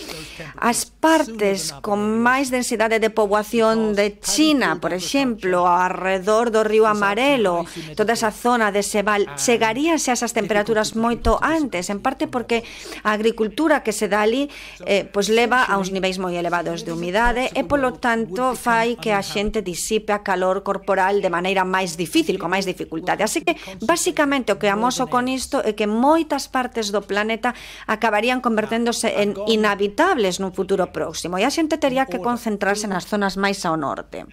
As partes con máis densidade de poboación de China, por exemplo, alrededor do río Amarelo, toda esa zona de Sebal, chegaríanse a esas temperaturas moito antes, en parte porque a agricultura que se dá ali eh, pois leva a uns niveis moi elevados de humidade e, polo tanto, fai que a xente disipe a calor corporal de maneira máis difícil, con máis dificultade. Así que, basicamente, o que amoso con isto é que moitas partes do planeta acabarían converténdose en inhabitables nun futuro próximo e a xente tería que concentrarse nas zonas máis ao norte.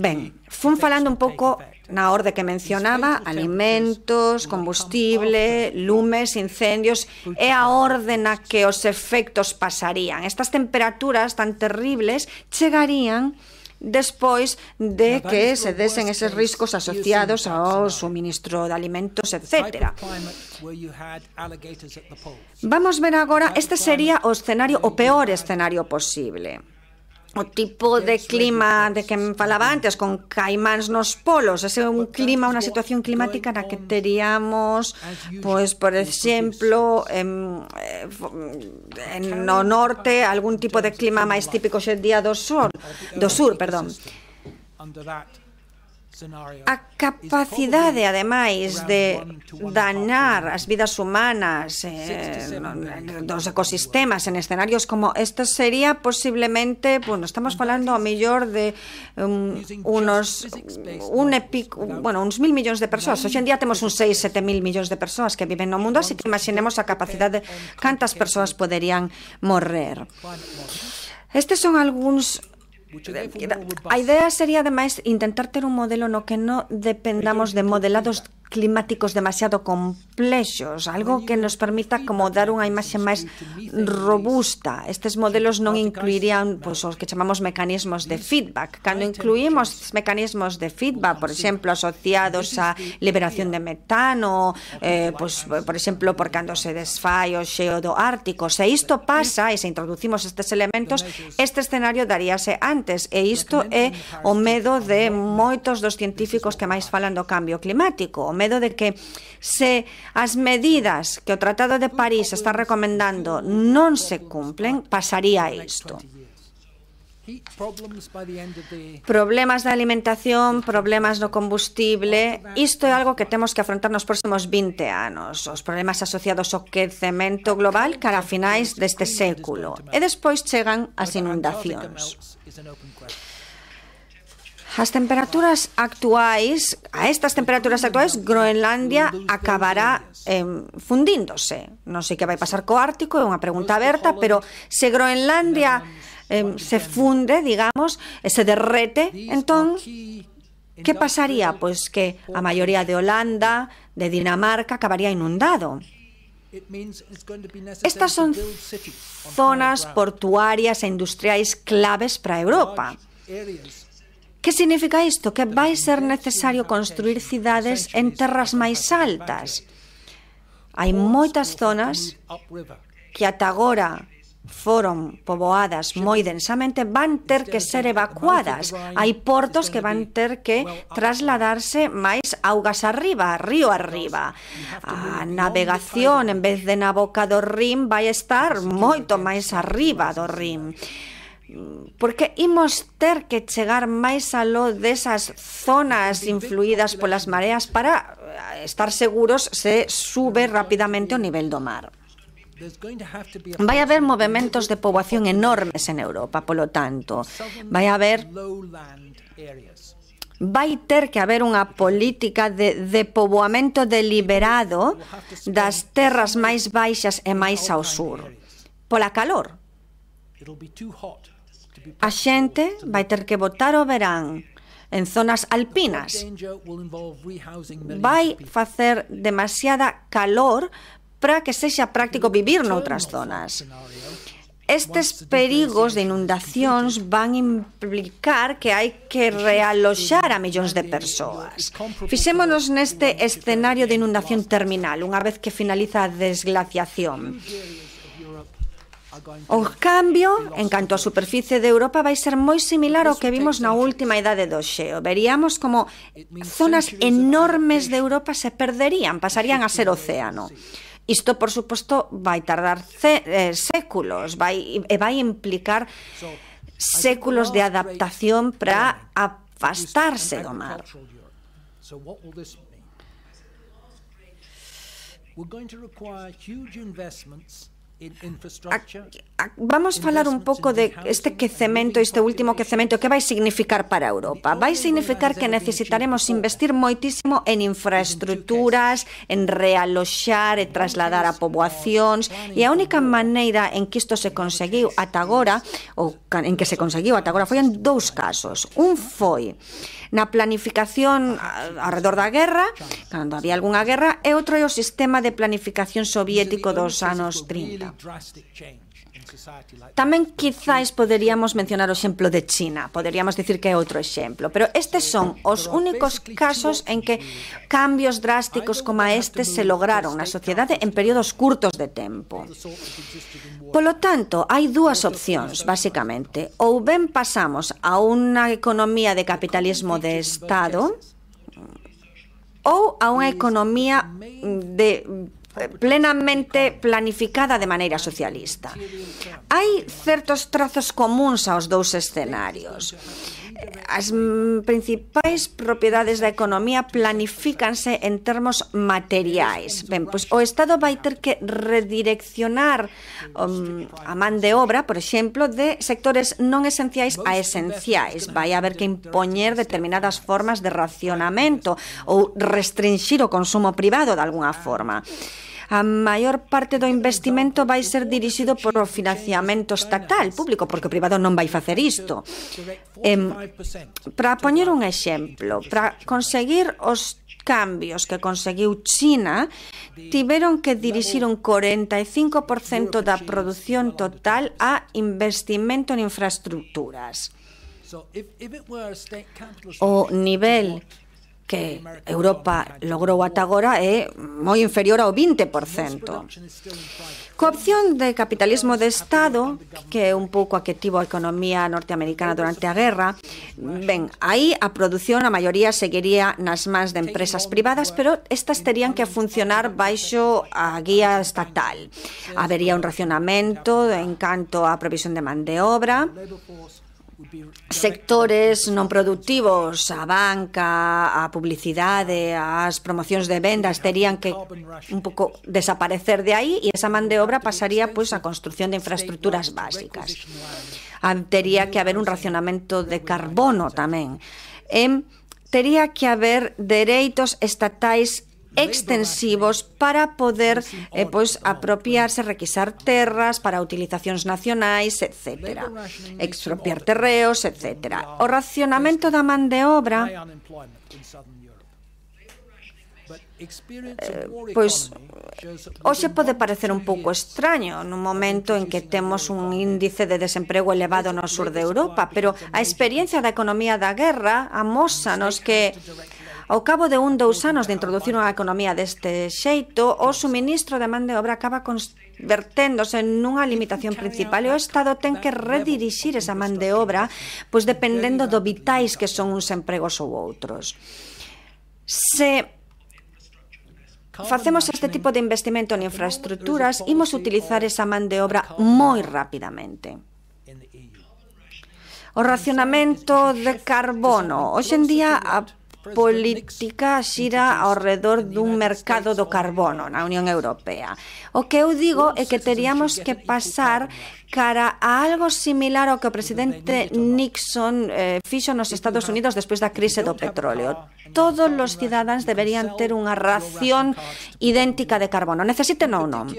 Ben, fun falando un pouco na orde que mencionaba: alimentos, combustible, lumes, incendios, é a orde na que os efectos pasarían. Estas temperaturas tan terribles chegarían despois de que se desen eses riscos asociados ao suministro de alimentos, etcétera. Vamos ver agora, este sería o escenario, o peor escenario posible. O tipo de clima de que me falaba antes, con caimáns nos polos, ese é un clima, unha situación climática na que teríamos, pois, por exemplo, en, en no norte, algún tipo de clima máis típico xe día do sur, do sur, perdón. A capacidade, ademais, de dañar as vidas humanas eh, dos ecosistemas en escenarios como estes sería posiblemente, bueno, estamos falando a mellor de um, unos un epic, bueno, uns mil millóns de persoas. Hoxe en día temos uns seis, sete mil millóns de persoas que viven no mundo, así que imaginemos a capacidade de cantas persoas poderían morrer. Estes son algúns. A idea sería, ademais, intentar ter un modelo no que non dependamos de modelados climáticos demasiado complexos, algo que nos permita como dar unha imaxe máis robusta. Estes modelos non incluirían pois, os que chamamos mecanismos de feedback. Cando incluímos mecanismos de feedback, por exemplo, asociados á liberación de metano, eh, pois, por exemplo, por cando se desfai o xeo do Ártico, se isto pasa e se introducimos estes elementos, este escenario daríase antes, e isto é o medo de moitos dos científicos que máis falan do cambio climático, o medo de que se as medidas que o Tratado de París está recomendando non se cumplen, pasaría isto. Problemas de alimentación, problemas no combustible, isto é algo que temos que afrontar nos próximos vinte anos. Os problemas asociados ao quecemento global cara a finais deste século. E despois chegan as inundacións. As temperaturas actuais, a estas temperaturas actuais, Groenlandia acabará eh, fundíndose. Non sei que vai pasar co Ártico, é unha pregunta aberta, pero se Groenlandia eh, se funde, digamos, e se derrete, entón, que pasaría? Pois que a maioría de Holanda, de Dinamarca, acabaría inundado. Estas son zonas portuarias e industriais claves para a Europa. Que significa isto? Que vai ser necesario construir cidades en terras máis altas. Hai moitas zonas que ata agora foron poboadas moi densamente, van ter que ser evacuadas. Hai portos que van ter que trasladarse máis augas arriba, río arriba. A navegación, en vez de na boca do Rin, vai estar moito máis arriba do Rin. Porque imos ter que chegar máis aló desas zonas influídas polas mareas para estar seguros se sube rapidamente o nivel do mar. Vai haber movementos de poboación enormes en Europa, polo tanto, vai haber vai ter que haber unha política de, de poboamento deliberado das terras máis baixas e máis ao sur, pola calor. A xente vai ter que botar o verán en zonas alpinas. Vai facer demasiada calor para que sexa práctico vivir noutras zonas. Estes perigos de inundacións van implicar que hai que realoxar a millóns de persoas. Fixémonos neste escenario de inundación terminal, unha vez que finaliza a desglaciación. O cambio, en canto á superficie de Europa, vai ser moi similar ao que vimos na última idade do xeo. Veríamos como zonas enormes de Europa se perderían, pasarían a ser océano. Isto, por suposto, vai tardar eh, séculos, vai, e vai implicar séculos de adaptación para afastarse do mar. Vamos falar un pouco de este quecemento, este último quecemento, que vai significar para Europa. Vai significar que necesitaremos investir moitísimo en infraestructuras, en realoxar e trasladar a poboacións, e a única maneira en que isto se conseguiu ata agora, ou en que se conseguiu ata agora, foi en dous casos. Un foi na planificación alrededor da guerra, cando había algunha guerra, e outro é o sistema de planificación soviético dos anos trinta. Tamén quizáis poderíamos mencionar o exemplo de China, poderíamos dicir que é outro exemplo, pero estes son os únicos casos en que cambios drásticos como estes se lograron na sociedade en períodos curtos de tempo. Polo tanto, hai dúas opcións, basicamente. Ou ben pasamos a unha economía de capitalismo de Estado ou a unha economía de plenamente planificada de maneira socialista. Hai certos trazos comuns aos dous escenarios. As principais propiedades da economía planifícanse en termos materiais. Ben, pois o Estado vai ter que redireccionar um, a man de obra, por exemplo, de sectores non esenciais a esenciais. Vai haber que impoñer determinadas formas de racionamento ou restringir o consumo privado de alguna forma. A maior parte do investimento vai ser dirixido por o financiamento estatal, público, porque o privado non vai facer isto. Eh, para poñer un exemplo, para conseguir os cambios que conseguiu China, tiveron que dirixir un corenta e cinco por cento da produción total a investimento en infraestructuras. O nivel que Europa logrou ata agora é moi inferior ao vinte por cento. Coa opción de capitalismo de Estado, que é un pouco a que tivo a economía norteamericana durante a guerra, ben, aí a produción, a maioría, seguiría nas mans de empresas privadas, pero estas terían que funcionar baixo a guía estatal. Habería un racionamento en canto á provisión de man de obra, sectores non produtivos, a banca, a publicidade, as promocións de vendas terían que un pouco desaparecer de aí e esa man de obra pasaría pois a construción de infraestructuras básicas. Tería que haber un racionamento de carbono tamén. E tería que haber dereitos estatais extensivos para poder eh, pois, apropiarse, requisar terras para utilizacións nacionais, etcétera. Expropiar terreos, etcétera. O racionamento da man de obra eh, pois hoxe pode parecer un pouco extraño nun momento en que temos un índice de desemprego elevado no sur de Europa, pero a experiencia da economía da guerra amósanos que ao cabo de un, dous anos de introducir unha economía deste xeito, o suministro de man de obra acaba converténdose nunha limitación principal e o Estado ten que redirixir esa man de obra pois dependendo do vitais que son uns empregos ou outros. Se facemos este tipo de investimento en infraestructuras, imos utilizar esa man de obra moi rapidamente. O racionamento de carbono. Hoxe en día a política xira ao redor dun mercado do carbono na Unión Europea. O que eu digo é que teríamos que pasar cara a algo similar ao que o presidente Nixon eh, fixo nos Estados Unidos despois da crise do petróleo. Todos os cidadáns deberían ter unha ración idéntica de carbono, necesiten ou non.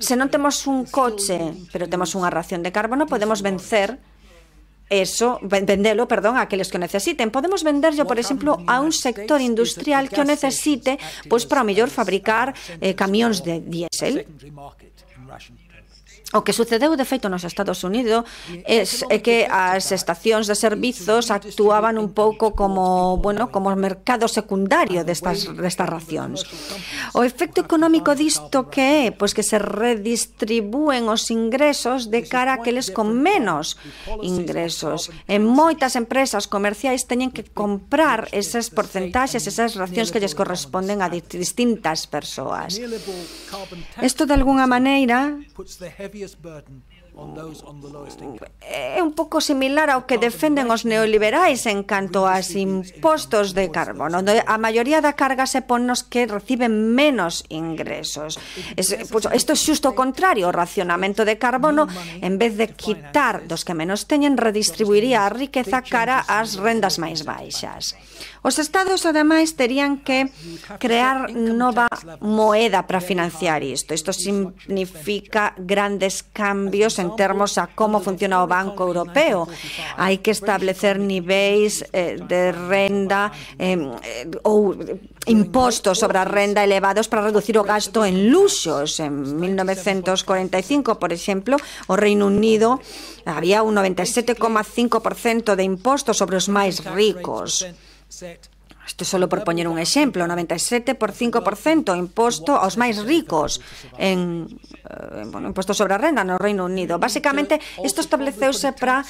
Se non temos un coche, pero temos unha ración de carbono, podemos vencer Eso, vendelo, perdón, a aqueles que o necesiten. Podemos venderlo, por exemplo, a un sector industrial que o necesite pois para o mellor fabricar eh, camións de diésel. O que sucedeu, de feito, nos Estados Unidos é, é que as estacións de servizos actuaban un pouco como, bueno, como mercado secundario destas, destas racións. O efecto económico disto que é? Pois que se redistribúen os ingresos de cara a aqueles con menos ingresos. En moitas empresas comerciais teñen que comprar esas porcentaxes, esas racións que lles corresponden a distintas persoas. Isto, de alguna maneira, é un pouco similar ao que defenden os neoliberais en canto aos impostos de carbono. A maioría da carga se pon nos que reciben menos ingresos. Isto é xusto o contrario. O racionamento de carbono, en vez de quitar dos que menos teñen, redistribuiría a riqueza cara ás rendas máis baixas. Os estados, ademais, terían que crear nova moeda para financiar isto. Isto significa grandes cambios en termos a como funciona o Banco Europeo. Hai que establecer niveis eh, de renda eh, ou impostos sobre a renda elevados para reducir o gasto en luxos. En mil novecientos cuarenta e cinco, por exemplo, o Reino Unido había un noventa e sete coma cinco por cento de impostos sobre os máis ricos. Isto solo por poñer un exemplo, noventa e sete por cinco por cento imposto aos máis ricos en, eh, bueno, imposto sobre a renda no Reino Unido. Básicamente, isto estableceuse para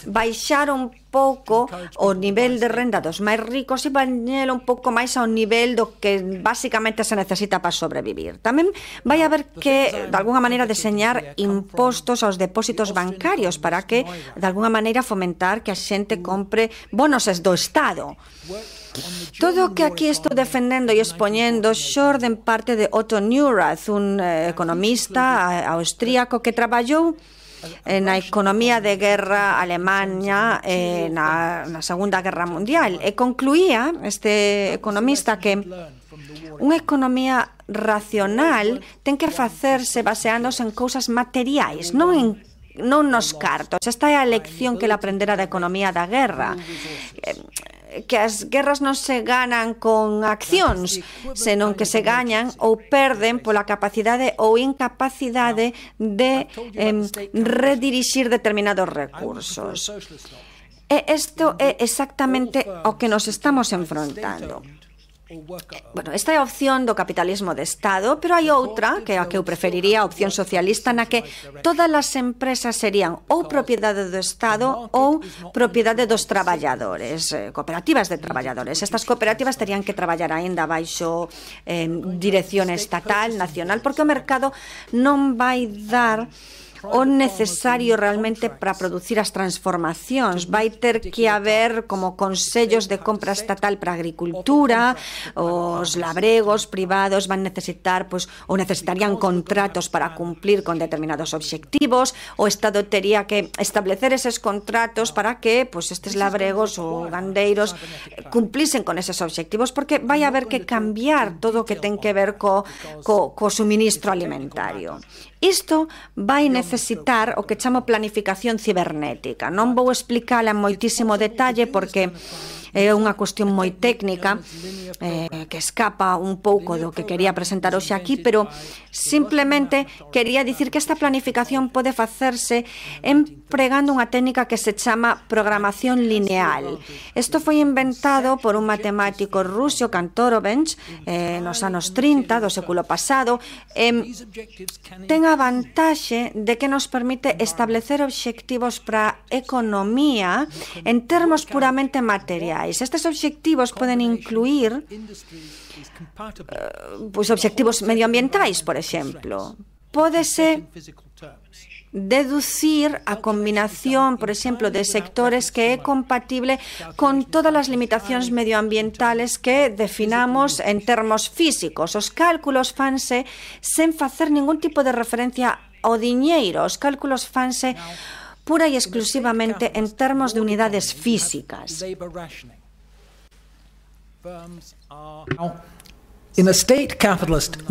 baixar un pouco o nivel de renda dos máis ricos e bañelo un pouco máis ao nivel do que basicamente se necesita para sobrevivir. Tamén vai haber que, de alguna maneira, deseñar impostos aos depósitos bancarios para que, de alguna maneira, fomentar que a xente compre bonos do Estado. Todo o que aquí estou defendendo e expoñendo xorde en parte de Otto Neurath, un eh, economista austríaco que traballou na economía de guerra Alemanha eh, na, na Segunda Guerra Mundial e concluía este economista que unha economía racional ten que facerse baseándose en cousas materiais, non en non nos cartos. Esta é a lección que ele aprendera da economía da guerra. Que as guerras non se ganan con accións, senón que se gañan ou perden pola capacidade ou incapacidade de eh, redirixir determinados recursos. E isto é exactamente o que nos estamos enfrontando. Bueno, esta é a opción do capitalismo de Estado, pero hai outra, que é a que eu preferiría, a opción socialista, na que todas as empresas serían ou propiedade do Estado ou propiedade dos traballadores, eh, cooperativas de traballadores. Estas cooperativas terían que traballar aínda baixo eh, dirección estatal, nacional, porque o mercado non vai dar o necesario realmente para producir as transformacións. Vai ter que haber como consellos de compra estatal para a agricultura, os labregos privados van necesitar, pois, ou necesitarían contratos para cumplir con determinados obxectivos, o Estado tería que establecer eses contratos para que pois, estes labregos ou gandeiros cumplisen con eses obxectivos, porque vai haber que cambiar todo o que ten que ver co, co, co suministro alimentario. Isto vai necesitar o que chamo planificación cibernética. Non vou explicala en moitísimo detalle porque é unha cuestión moi técnica eh, que escapa un pouco do que quería presentar hoxe aquí, pero simplemente quería dicir que esta planificación pode facerse empregando unha técnica que se chama programación lineal. Isto foi inventado por un matemático ruso, Kantorovich, eh, nos anos trinta do século pasado. Eh, ten a vantaxe de que nos permite establecer obxectivos para a economía en termos puramente materiais. Estes obxectivos poden incluir uh, pois obxectivos medioambientais, por exemplo. Pódese deducir a combinación, por exemplo, de sectores que é compatible con todas as limitacións medioambientales que definamos en termos físicos. Os cálculos fanse sen facer ningún tipo de referencia ao diñeiro. Os cálculos fanse pura e exclusivamente en termos de unidades físicas. In a state capitalist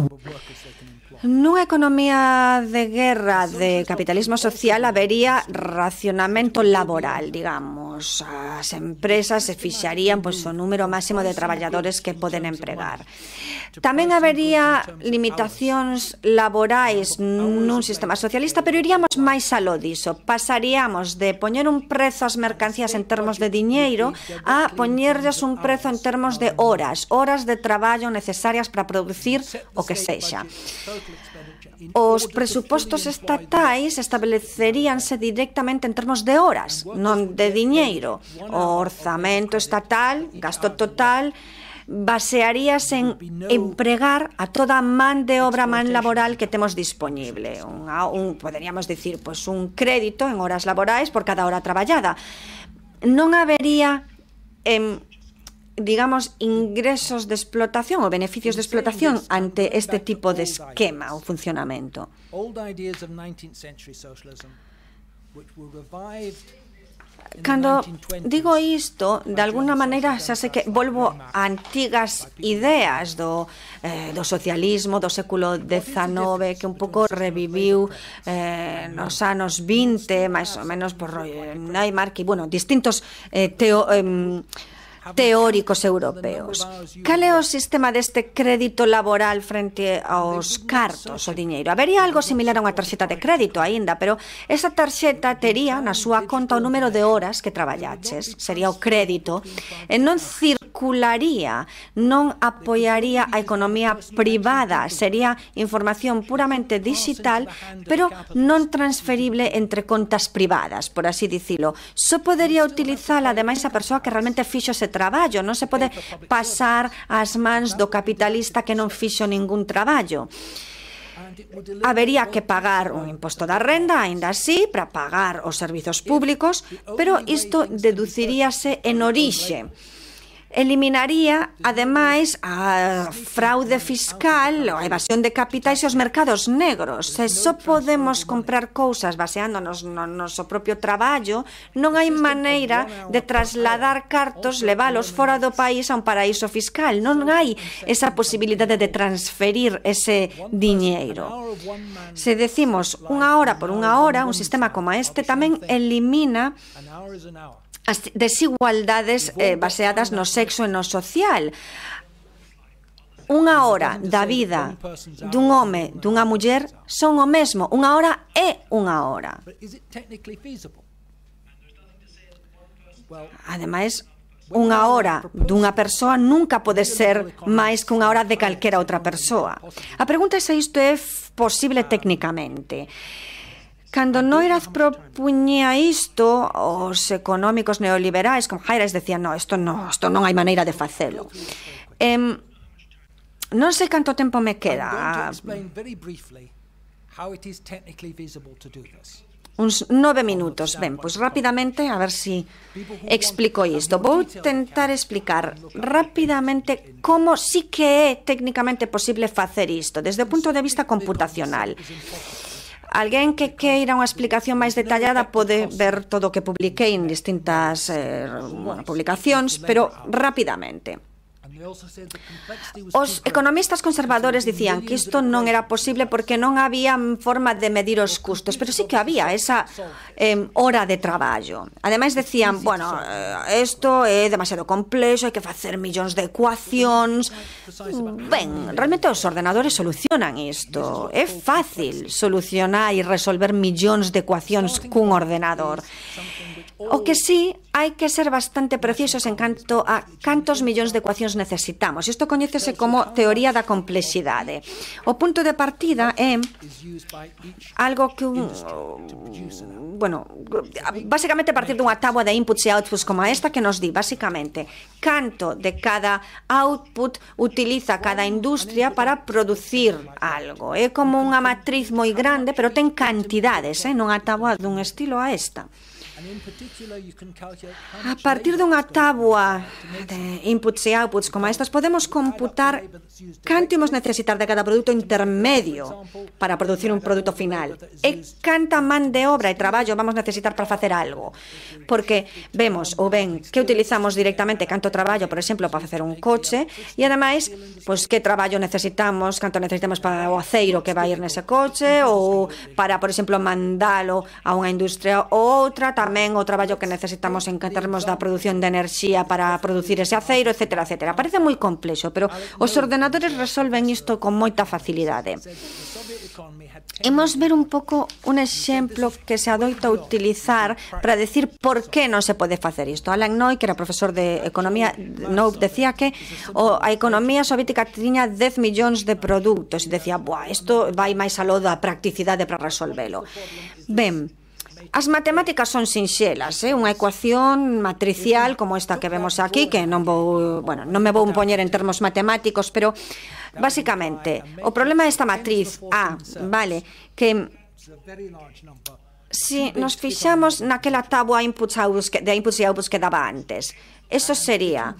Nunha economía de guerra de capitalismo social habería racionamento laboral, digamos. As empresas se fixarían pois, o número máximo de traballadores que poden empregar. Tamén habería limitacións laborais nun sistema socialista, pero iríamos máis aló diso. Pasaríamos de poñer un prezo ás mercancías en termos de diñeiro a poñerlles un prezo en termos de horas, horas de traballo necesarias para producir o que sexa. Os presupostos estatais estableceríanse directamente en termos de horas, non de diñeiro. O orzamento estatal, gasto total, basearíase en empregar a toda a man de obra, man laboral que temos disponible. Un, un, poderíamos dicir, pues, un crédito en horas laborais por cada hora traballada. Non habería... Eh, digamos, ingresos de explotación ou beneficios de explotación ante este tipo de esquema ou funcionamento. Cando digo isto, de alguna maneira xa sei que volvo a antigas ideas do, eh, do socialismo do século dezenove, que un pouco reviviu eh, nos anos vinte, máis ou menos por Neymar, que, bueno, distintos eh, teo... Eh, teóricos europeos. Cal é o sistema deste crédito laboral frente aos cartos, o diñeiro? Habería algo similar a unha tarxeta de crédito aínda, pero esa tarxeta tería na súa conta o número de horas que traballaches, sería o crédito, e non circularía, non apoiaría a economía privada, sería información puramente digital, pero non transferible entre contas privadas, por así dicilo. Só podería utilizala, ademais, a persoa que realmente fixo ese traballo, non se pode pasar ás mans do capitalista que non fixo ningún traballo. Habería que pagar un imposto da renda, aínda así, para pagar os servizos públicos, pero isto deduciríase en orixe. Eliminaría, ademais, a fraude fiscal, a evasión de capitais e os mercados negros. Se só podemos comprar cousas baseándonos no noso propio traballo, non hai maneira de trasladar cartos, leválos fora do país a un paraíso fiscal. Non hai esa posibilidade de transferir ese diñeiro. Se decimos unha hora por unha hora, un sistema como este tamén elimina as desigualdades eh, baseadas no sexo e no social. Unha hora da vida dun home, dunha muller, son o mesmo. Unha hora é unha hora. Ademais, unha hora dunha persoa nunca pode ser máis que unha hora de calquera outra persoa. A pregunta é se isto é posible técnicamente. Cando Neurath propuñía isto, os económicos neoliberais, como Hayek, decían, no, isto non, isto non hai maneira de facelo. Eh, non sei canto tempo me queda. how it is technically feasible to do this. Uns nove minutos. Ben, pois rapidamente, a ver si explico isto. Vou tentar explicar rapidamente como sí que é técnicamente posible facer isto, desde o punto de vista computacional. Alguén que queira unha explicación máis detallada pode ver todo o que publiquei en distintas eh, bueno, publicacións, pero rapidamente. Os economistas conservadores dicían que isto non era posible porque non había forma de medir os custos, pero sí que había esa eh, hora de traballo. Ademais decían, bueno, isto eh, é demasiado complexo, hai que facer millóns de ecuacións. Ben, realmente os ordenadores solucionan isto. É fácil solucionar e resolver millóns de ecuacións cun ordenador. O que sí, hai que ser bastante precisos en canto a cantos millóns de ecuacións necesitamos. Isto coñécese como teoría da complexidade. O punto de partida é algo que un, bueno, basicamente a partir dunha táboa de inputs e outputs como esta que nos di, basicamente, canto de cada output utiliza cada industria para producir algo. É como unha matriz moi grande, pero ten cantidades, eh? Non a táboa dun estilo a esta. A partir dunha táboa de inputs e outputs como estas, podemos computar canto imos necesitar de cada produto intermedio para producir un produto final e canta man de obra e traballo vamos necesitar para facer algo. Porque vemos ou ben que utilizamos directamente canto traballo, por exemplo, para facer un coche e ademais, pois que traballo necesitamos, canto necesitamos para o aceiro que vai ir nese coche ou para, por exemplo, mandalo a unha industria ou outra, tamén o traballo que necesitamos en termos da produción de enerxía para producir ese aceiro, etcétera, etcétera. Parece moi complexo, pero os ordenadores resolven isto con moita facilidade. Imos ver un pouco un exemplo que se adoita a utilizar para decir por que non se pode facer isto. Alan Noy, que era profesor de economía, Noy decía que o, a economía soviética tiña dez millóns de produtos e decía, buah, isto vai máis aló da practicidade para resolvelo. Ben, as matemáticas son sinxelas, eh? Unha ecuación matricial como esta que vemos aquí, que non vou, bueno, non me vou poñer en termos matemáticos, pero basicamente, o problema desta matriz A, vale, que se nos fixamos naquela táboa de inputs e outputs que daba antes, eso sería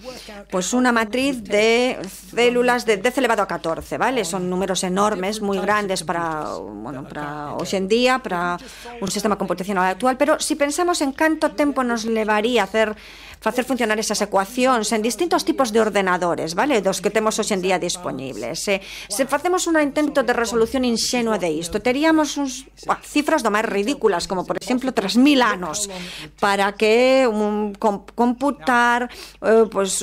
pues unha matriz de células de dez elevado a catorce, vale? Son números enormes, moi grandes para, bueno, para hoxe en día, para un sistema computacional actual, pero se si pensamos en canto tempo nos levaría a hacer facer funcionar esas ecuacións en distintos tipos de ordenadores, vale? Dos que temos hoxe en día disponibles. Se, se facemos un intento de resolución inxenua de isto, teríamos uns, bah, cifras do máis ridículas, como por exemplo tres mil anos para que un, com, computar eh, pues,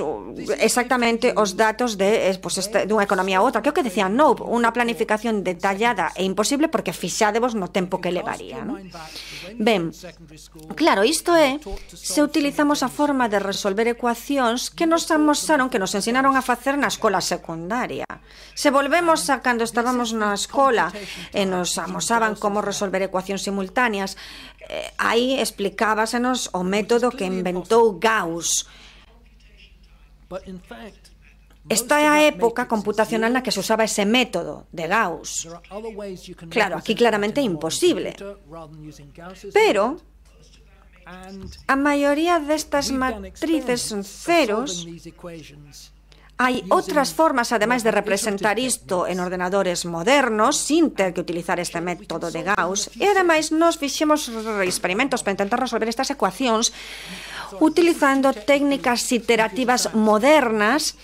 exactamente os datos de pues, este, dunha economía a outra, que é o que decían, no, unha planificación detallada e imposible porque fixádevos no tempo que levaría, ¿no? Ben, claro, isto é se utilizamos a forma de resolver ecuacións que nos amosaron, que nos ensinaron a facer na escola secundaria. Se volvemos a cando estábamos na escola e nos amosaban como resolver ecuacións simultáneas, eh, aí explicábasenos o método que inventou Gauss. Esta é a época computacional na que se usaba ese método de Gauss. Claro, aquí claramente é imposible. Pero a maioría destas matrices son ceros. Hai outras formas, ademais de representar isto en ordenadores modernos, sin ter que utilizar este método de Gauss. E, ademais, nos fixemos experimentos para intentar resolver estas ecuacións utilizando técnicas iterativas modernas.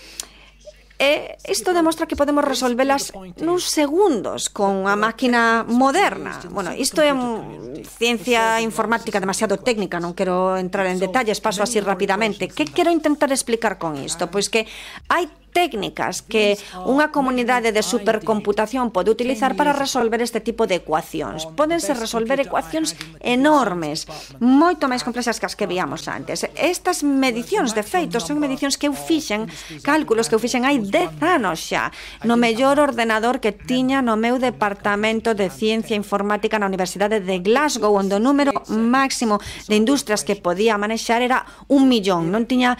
E isto demostra que podemos resolvelas nuns segundos con unha máquina moderna. Bueno, isto é un, ciencia informática demasiado técnica, non quero entrar en detalles, paso así rapidamente. Que quero intentar explicar con isto? Pois que hai técnicas que unha comunidade de supercomputación pode utilizar para resolver este tipo de ecuacións. Pódense resolver ecuacións enormes, moito máis complexas que as que víamos antes. Estas medicións, de feito, son medicións que eu fixen, cálculos que eu fixen hai dez anos xa, no mellor ordenador que tiña no meu departamento de Ciencia Informática na Universidade de Glasgow, onde o número máximo de industrias que podía manexar era un millón. Non tiña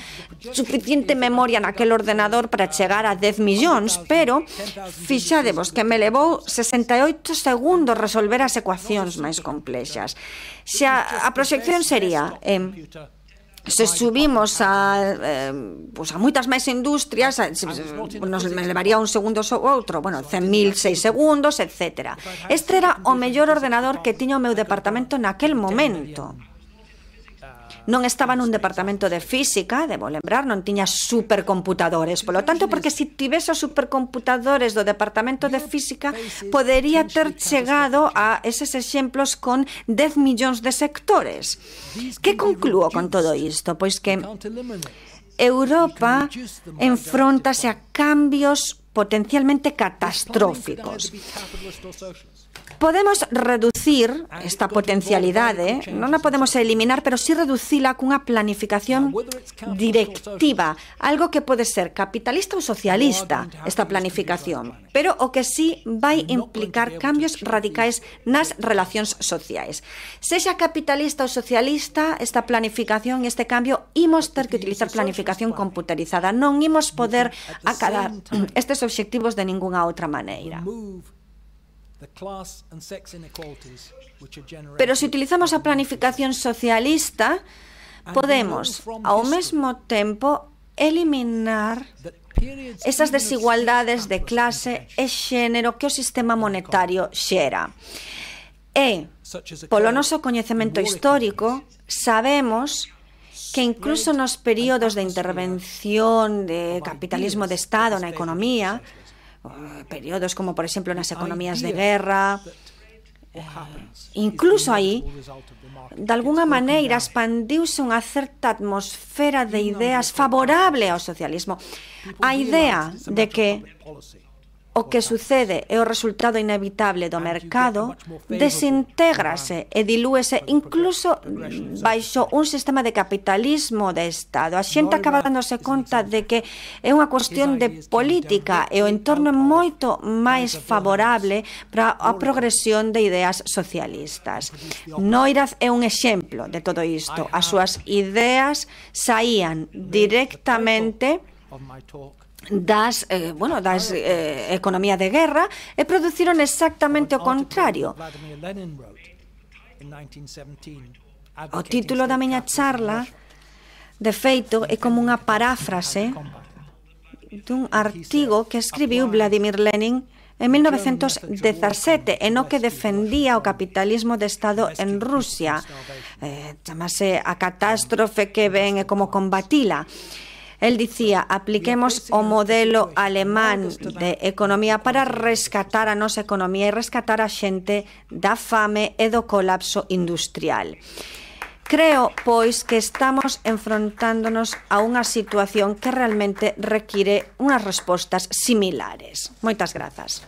suficiente memoria naquele ordenador para para chegar a dez millóns, pero fixadevos que me levou sesenta e oito segundos resolver as ecuacións máis complexas. Se a, a proxección sería... Eh, se subimos a, eh, pues a moitas máis industrias, nos levaría un segundo ou outro, bueno, cen mil seis segundos, etcétera. Este era o mellor ordenador que tiña o meu departamento naquel momento. Non estaba nun departamento de física, debo lembrar, non tiña supercomputadores. Polo tanto, porque se tivese os supercomputadores do departamento de física, podería ter chegado a eses exemplos con dez millóns de sectores. Que conclúo con todo isto? Pois que Europa enfróntase a cambios potencialmente catastróficos. Podemos reducir esta potencialidade, non a podemos eliminar, pero sí reducila cunha planificación directiva, algo que pode ser capitalista ou socialista, esta planificación, pero o que sí vai implicar cambios radicais nas relacións sociais. Sexa capitalista ou socialista, esta planificación e este cambio, imos ter que utilizar planificación computarizada, non imos poder acadar estes obxectivos de ningunha outra maneira. Pero se utilizamos a planificación socialista, podemos, ao mesmo tempo, eliminar esas desigualdades de clase e xénero que o sistema monetario xera. E, polo noso coñecemento histórico, sabemos que incluso nos períodos de intervención de capitalismo de Estado na economía, períodos como, por exemplo, nas economías de guerra, eh, incluso aí, de alguna maneira, expandiuse unha certa atmosfera de ideas favorable ao socialismo. A idea de que o que sucede é o resultado inevitable do mercado, desintégrase e dilúese incluso baixo un sistema de capitalismo de Estado. A xente acaba dándose conta de que é unha cuestión de política e o entorno é moito máis favorable para a progresión de ideas socialistas. Noirath é un exemplo de todo isto. As súas ideas saían directamente das, eh, bueno, das eh, economía de guerra e produciron exactamente o contrario. O título da miña charla, de feito, é como unha paráfrase dun artigo que escribiu Vladimir Lenin en mil novecentos dezasete, en o que defendía o capitalismo de Estado en Rusia. Eh, chamase A catástrofe que ven e como combatila. El dicía, apliquemos o modelo alemán de economía para rescatar a nosa economía e rescatar a xente da fame e do colapso industrial. Creo, pois, que estamos enfrontándonos a unha situación que realmente require unhas respostas similares. Moitas grazas.